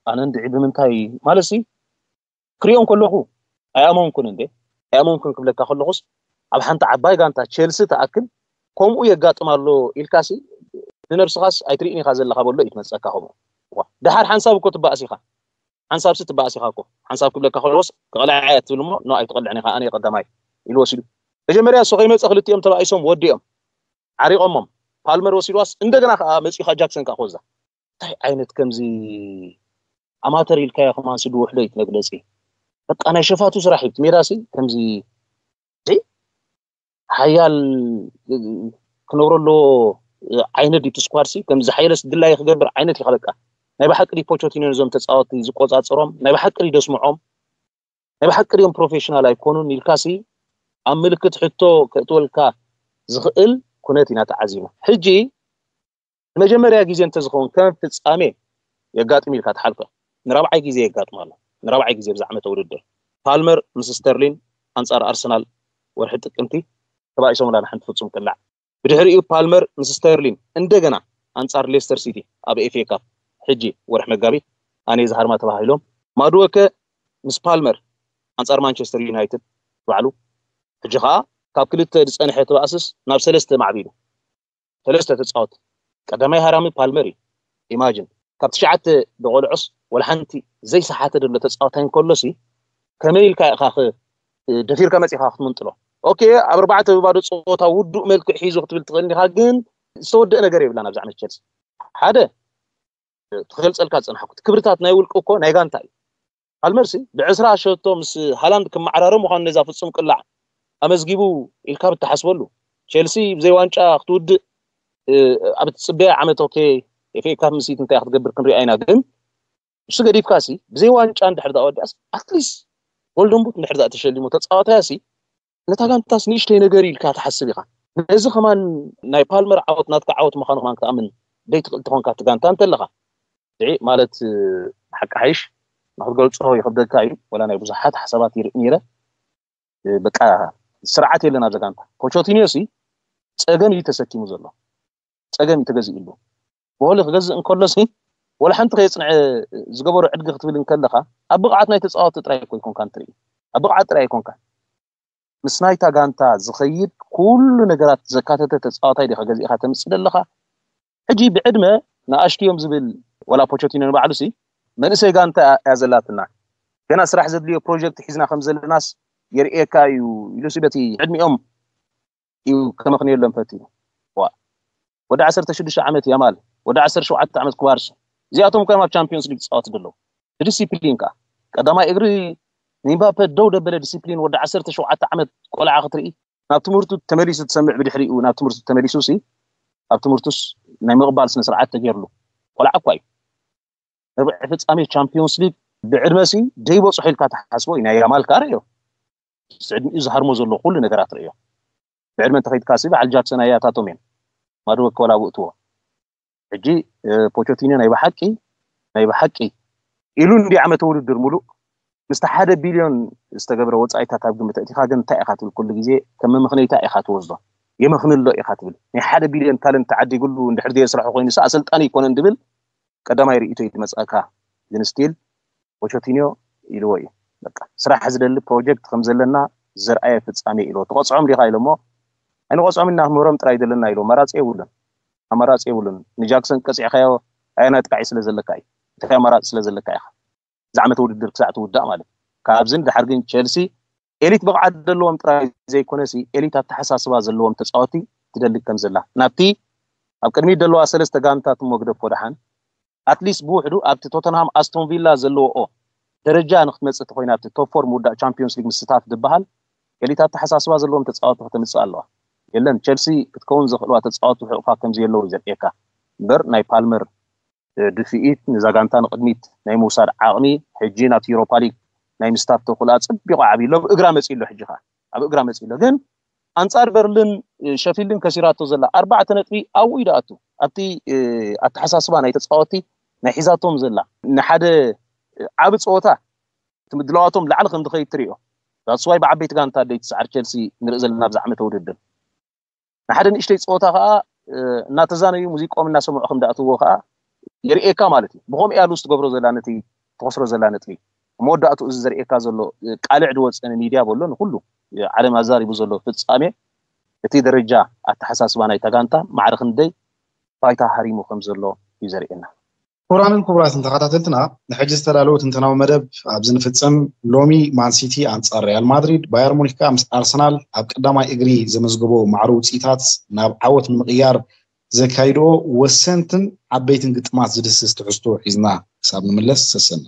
ኣነ እንድዒ ብምንታይ ማለት ሲ ክሪኦም ከለኹ ኣይኣመንኩን እንዴ ኣይኣመንኩን ክብለካ ከለኹስ ኣብ ሓንቲ ዓባይ ጋንታ ቸልሲ ተኣክል ከምኡ የጋጥም ኣሎ ኢልካሲ ንነብስኻስ ኣይትርእን ኢኻ ዘለኻ በሎ እዩ ትመፀካ ከምኡ። ደሓር ሓንሳብ እኮ ትበኣስ ኢኻ ሓንሳብ ሲ ትበኣስ ኢኻ እኮ ሓንሳብ ክብለካ ከለዎስ ክቕልዓ እያ ትብል እሞ ኖ ኣይትቕልዕን ኢኻ ኣነ ቀዳማይ ኢሉ ወሲዱ መጀመርያ እሱ ከይመፀ ክልቲኦም ተባኢሶም ወዲኦም ዓሪቆሞም ፓልመር ወሲድዋስ እንደገና ከዓ መፂኡ ከዓ ጃክሰን ከዓ ክወዛ እንታይ ዓይነት ከምዚ ኣማተር ኢልካዮ ከማን ስዲ ውሕዶ እዩ መግለፂ በቃ ናይ ሸፋቱ ስራሕ እዩ ሜዳ ሲ ከምዚ ሓያል ክነብሮ ኣለዎ ዓይነት ዲቲ ስኳድ ሲ ከም ዝሓየለስ ድላይ ክገብር ዓይነት ኢኻ በቃ ናይ ብሓቂ ዲ ፖቾቲኖ ነዞም ተፃወቲ ዝቆፃፀሮም ናይ ብሓቂ ዲ ደስምዖም ናይ ብሓቂ ዲዮም ፕሮፌሽናል ኣይኮኑን ኢልካ ሲ ኣብ ምልክት ሕቶ ከእትወልካ ዝኽእል ኩነት ኢና ተዓዚብና ሕጂ ንመጀመርያ ግዜ እንተዝኸውን ከም ፍፃሜ የጋጥም ኢልካ ትሓልፈ ንራብዓይ ግዜ የጋጥም ኣሎ ንራብዓይ ግዜ ብዛዕመተ ውድድር ፓልመር ምስ ስተርሊን ኣንፃር ኣርሰናል ወርሒ ጥቅምቲ ተባኢሶም ላ ንሓንቲ ፍፁም ቅላዕ ብድሕሪኡ ፓልመር ምስ ስተርሊን እንደገና ኣንፃር ሌስተር ሲቲ ኣብ ኤፍኤ ካፕ ሕጂ ወርሒ መጋቢት ኣነ ዝሃርማ ተባሂሎም ማድወከ ምስ ፓልመር ኣንፃር ማንቸስተር ዩናይትድ ባዕሉ ሕጂ ከዓ ካብ ክልተ ዝፀንሐ ተባእስስ ናብ ሰለስተ ማዕቢሉ ሰለስተ ተፃወት ቀዳማይ ሃራሚ ፓልመር እዩ ኢማጅን ካብ ትሽዓተ ደቆልዖስ ወላ ሓንቲ ዘይሰሓተ ደሎ ተፃወታይ እንከሎሲ ከመይ ኢልካ ኢኻ ደፊርካ መፂኻ ክትምንጥሎ ኦኬ ኣብ ኣርባዕተ ብባዶ ፀወታ ውዱእ መልክዕ ሒዙ ክትብል ትኽእል ኢኻ ግን ዝተወደአ ነገር የብላን ኣብዛ ዓመት ቸልሲ ሓደ ትገልፀልካ ዝፀናሕኩ ክብርታት ናይ ውልቂ እኮ ናይ ጋንታ እዩ ፓልመርሲ ብዕስራ ሸቶ ምስ ሃላንድ ክመዓራረብ ምዃኑ ነዛ ፍፁም ቅላዕ ኣመዝጊቡ ኢልካ ብትሓስበሉ ቸልሲ ብዘይ ዋንጫ ክትውድእ ኣብ ትፅበያ ዓመት ኦኬ ኤፍኤ ካፕ ምሲት እንታይ ክትገብር ክንሪኣ ኢና ግን እሱ ገዲፍካ ሲ ብዘይ ዋንጫ እንድሕር ዳ ወዲኣስ ኣትሊስት ጎልደን ቡት እንድሕር ዳ ተሸሊሙ ተፃዋታይ ሲ ነታ ጋንታስ ንእሽተይ ነገር ኢልካ ትሓስብ ኢኻ ነዚ ከማን ናይ ፓልመር ዓወት ናትካ ዓወት ምዃኑ ከማን ክትኣምን ደይ ትኽእል ተኾንካ እቲ ጋንታ እንተለኻ ድዒ ማለት ሓቂ ሓይሽ ንክትገልፆ ይኽብደካ እዩ ወላ ናይ ብዙሓት ሓሳባት ይርኢ ነይረ በቃ ስርዓት የለን ኣብዛ ጋንታ ፖቾቲኒዮ ሲ ፀገም እዩ ተሰኪሙ ዘሎ ፀገም እዩ ተገዚእሉ ብሆሊ ክገዝእ እንከሎ ሲ ወላ ሓንቲ ከየፅንዐ ዝገበሩ ዕድጊ ክትብል እንከለካ ኣብ ብቕዓት ናይ ተፃወቲ ጥራይ እኮ ይኮንካ እንትርኢ ኣብ ብቕዓት ጥራይ ይኮንካ ምስ ናይታ ጋንታ ዝኸይድ ኩሉ ነገራት ዘካተተ ተፃዋታይ ዲኻ ገዚእካ ተምፅእ ዘለኻ ሕጂ ብዕድመ ንኣሽቱ እዮም ዝብል ወላ ፖቸቲኖ ንባዕሉ ሲ መንእሰይ ጋንታ እያ ዘላትና ገና ስራሕ ዘድልዮ ፕሮጀክት ሒዝና ከም ዘለናስ የርእየካ እዩ ኢሉ ሲ በቲ ዕድሚኦም እዩ ከመኽንየሎም ፈቲኑ ዋ ወዲ ዓሰርተ ሽዱሽተ ዓመት ያማል፣ ወዲ ዓሰርተ ሸውዓተ ዓመት ኩባርሲ፣ እዚኣቶም ኮይኖም ኣብ ቻምፒዮንስ ሊግ ዝፃወቱ ዘለዉ። ብዲሲፕሊን ከዓ ቀዳማይ እግሪ ንኤምባፔ ደው ደበለ ዲሲፕሊን ወዲ ዓሰርተ ሸውዓተ ዓመት ቆልዓ ክትርኢ፣ ናብ ትምህርቱ ተመሊሱ ትሰምዕ፣ ብድሕሪኡ ናብ ትምህርቱ ተመሊሱ ሲ ኣብ ትምህርቱስ ናይ ምቕባል ስነ ስርዓት ተገይርሉ። ቆልዓ እኳ እዩ። ርብዒ ፍጻሜ ቻምፒዮንስ ሊግ ብዕድመ ሲ ደይበፅሖ ኢልካ ትሓስቦ እዩ። ናይ ያማል ከዓ ርእዮ፣ ዕድሚኡ ዝሃርሞ ዘሎ ኩሉ ነገራት ርእዮ። ብዕድመ እንተኸይድካ ሲ በዓል ጃክሰን ኣያታቶም እዮም። ማድወ ከወላውእትዎ። ሕጂ ፖቾቲኖ ናይ ብሓቂ ናይ ብሓቂ ኢሉ እንዲ ዓመተ ውድድር ሙሉእ ምስቲ ሓደ ቢልዮን ዝተገብረ ወፃኢታት ኣብ ግምት ኣእቲኻ ግን እንታይ ኢኻ ትብል? ኩሉ ግዜ ከም መመኽነይታ ኢኻ ትወስዶ። የመኽንሎ ኢኻ ትብል። ናይ ሓደ ቢልዮን ታለንት ተዓዲግሉ እንድሕር ዘየስርሖ ኮይኑ ሲ ኣሰልጣኒ ኣይኮነን ድብል ቀዳማይ ርእይቶ እዩ ዝመፅኣካ። ግን ስቲል ፖቾቲኖ ኢልዎ እዩ። በቃ ስራሕ ዝደሊ ፕሮጀክት ከም ዘለና ዘርኣየ ፍጻሜ ኢልዎ። ትቐፅዖም ዲኻ ኢሎሞ፣ ኣይንቐፅዖም ኢና ክንብሮም ጥራይ ዘለና ኢልዎ። ኣማራፂ የብሉን። ኣማራፂ የብሉን። ንጃክሰን ቀፂዕካዮ ኣየናይ ጥቃዒ ስለ ዘለካ እዩ? እንታይ ኣማራፂ ስለ ዘለካ ኢኻ? እዚ ዓመተ ውድድር ክሳዕ ትውዳእ ማለት እዩ። ካብዝን ድሓር ግን ቸልሲ ኤሊት ብቕዓት ዘለዎም ጥራይ ዘይኮነሲ ኤሊት ኣተሓሳስባ ዘለዎም ተፃወቲ ትደሊ ከም ዘላ ናብቲ ኣብ ቅድሚት ዘለዋ ሰለስተ ጋንታት እሞ ግደፎ ደሓን ኣትሊስት ብውሕዱ ኣብቲ ቶተንሃም ኣስቶን ቪላ ዘለዎኦ ደረጃ ንክትመፅእ ተኮይና ኣብቲ ቶፕ ፎር ምውዳእ ቻምፒዮንስ ሊግ ምስታፍ ዝበሃል ኤሊት ኣተሓሳስባ ዘለዎም ተፃወቲ ከተምፅእ ኣለዋ። የለን ቸልሲ ክትከውን ዘኽእልዋ ተፃወቲ ሕቑፋ ከምዘየለዉ እዩ ዘርእየካ እምበር ናይ ፓልመር ድፍኢት ንዛ ጋንታ ንቕድሚት ናይ ምውሳድ ዓቕሚ ሕጂ ናብቲ ዩሮፓ ሊግ ናይ ምስታፍ ተኽእሎ ኣጸቢቑ ዓብዩ ኣሎ። ኣብ እግራ መጺኡ ኣሎ። ሕጂ ኸኣ ኣብ እግራ መጺኡ ኣሎ። ግን ኣንጻር በርልን ሸፊልድን ከሲራቶ ዘላ ኣርባዕተ ነጥቢ ኣብኡ እዩ ደኣቱ። ኣብቲ ኣተሓሳስባ ናይ ተጻወትቲ ናይ ሒዛቶም ዘላ ንሓደ ዓቢ ጸወታ እቲ ምድላዋቶም ላዕሊ ከም ዝኸይድ ትሪኦ። ዳትስዋይ ብዓበይቲ ጋንታ ደይ ትስዓር ቸልሲ ንርኢ ዘለና ኣብዚ ዓመተ ውድድር ንሓደ ንእሽተይ ፀወታ ከዓ እናተዛነዩ ሙዚቆም እናሰምዑ ከም ዳእትዎ ከዓ የርእየካ ማለት እዩ። ብከምኡ እያ ሉስ ትገብሮ ዘላ ነቲ ትኸስሮ ዘላ ነጥቢ። መወዳእቱ እዚ ዘርእየካ ዘሎ ቃልዕ ድወፀ ንሚድያ በሎ ንኩሉ ዓለም ኣዛሪቡ ዘሎ ፍፃሜ እቲ ደረጃ ኣተሓሳስባ ናይታ ጋንታ ማዕረ ክንደይ ባይታ ሃሪሙ ከም ዘሎ እዩ ዘርእየና። ክቡራንን ክቡራትን ተኸታተልትና ንሕጂ ዝተዳለወ ትንተናዊ መደብ ኣብዚ ንፍፅም። ሎሚ ማንሲቲ ኣንፃር ሪያል ማድሪድ፣ ባየር ሙኒክ ከዓ ምስ ኣርሰናል ኣብ ቀዳማይ እግሪ ዘመዝገቦ ማዕረ ውፅኢታት ናብ ዓወት ንምቕያር ዘካይድኦ ወሰንትን ዓበይትን ግጥማት ዝድስስ ትሕዝቶ ሒዝና ክሳብ ንምለስ ሰሰና።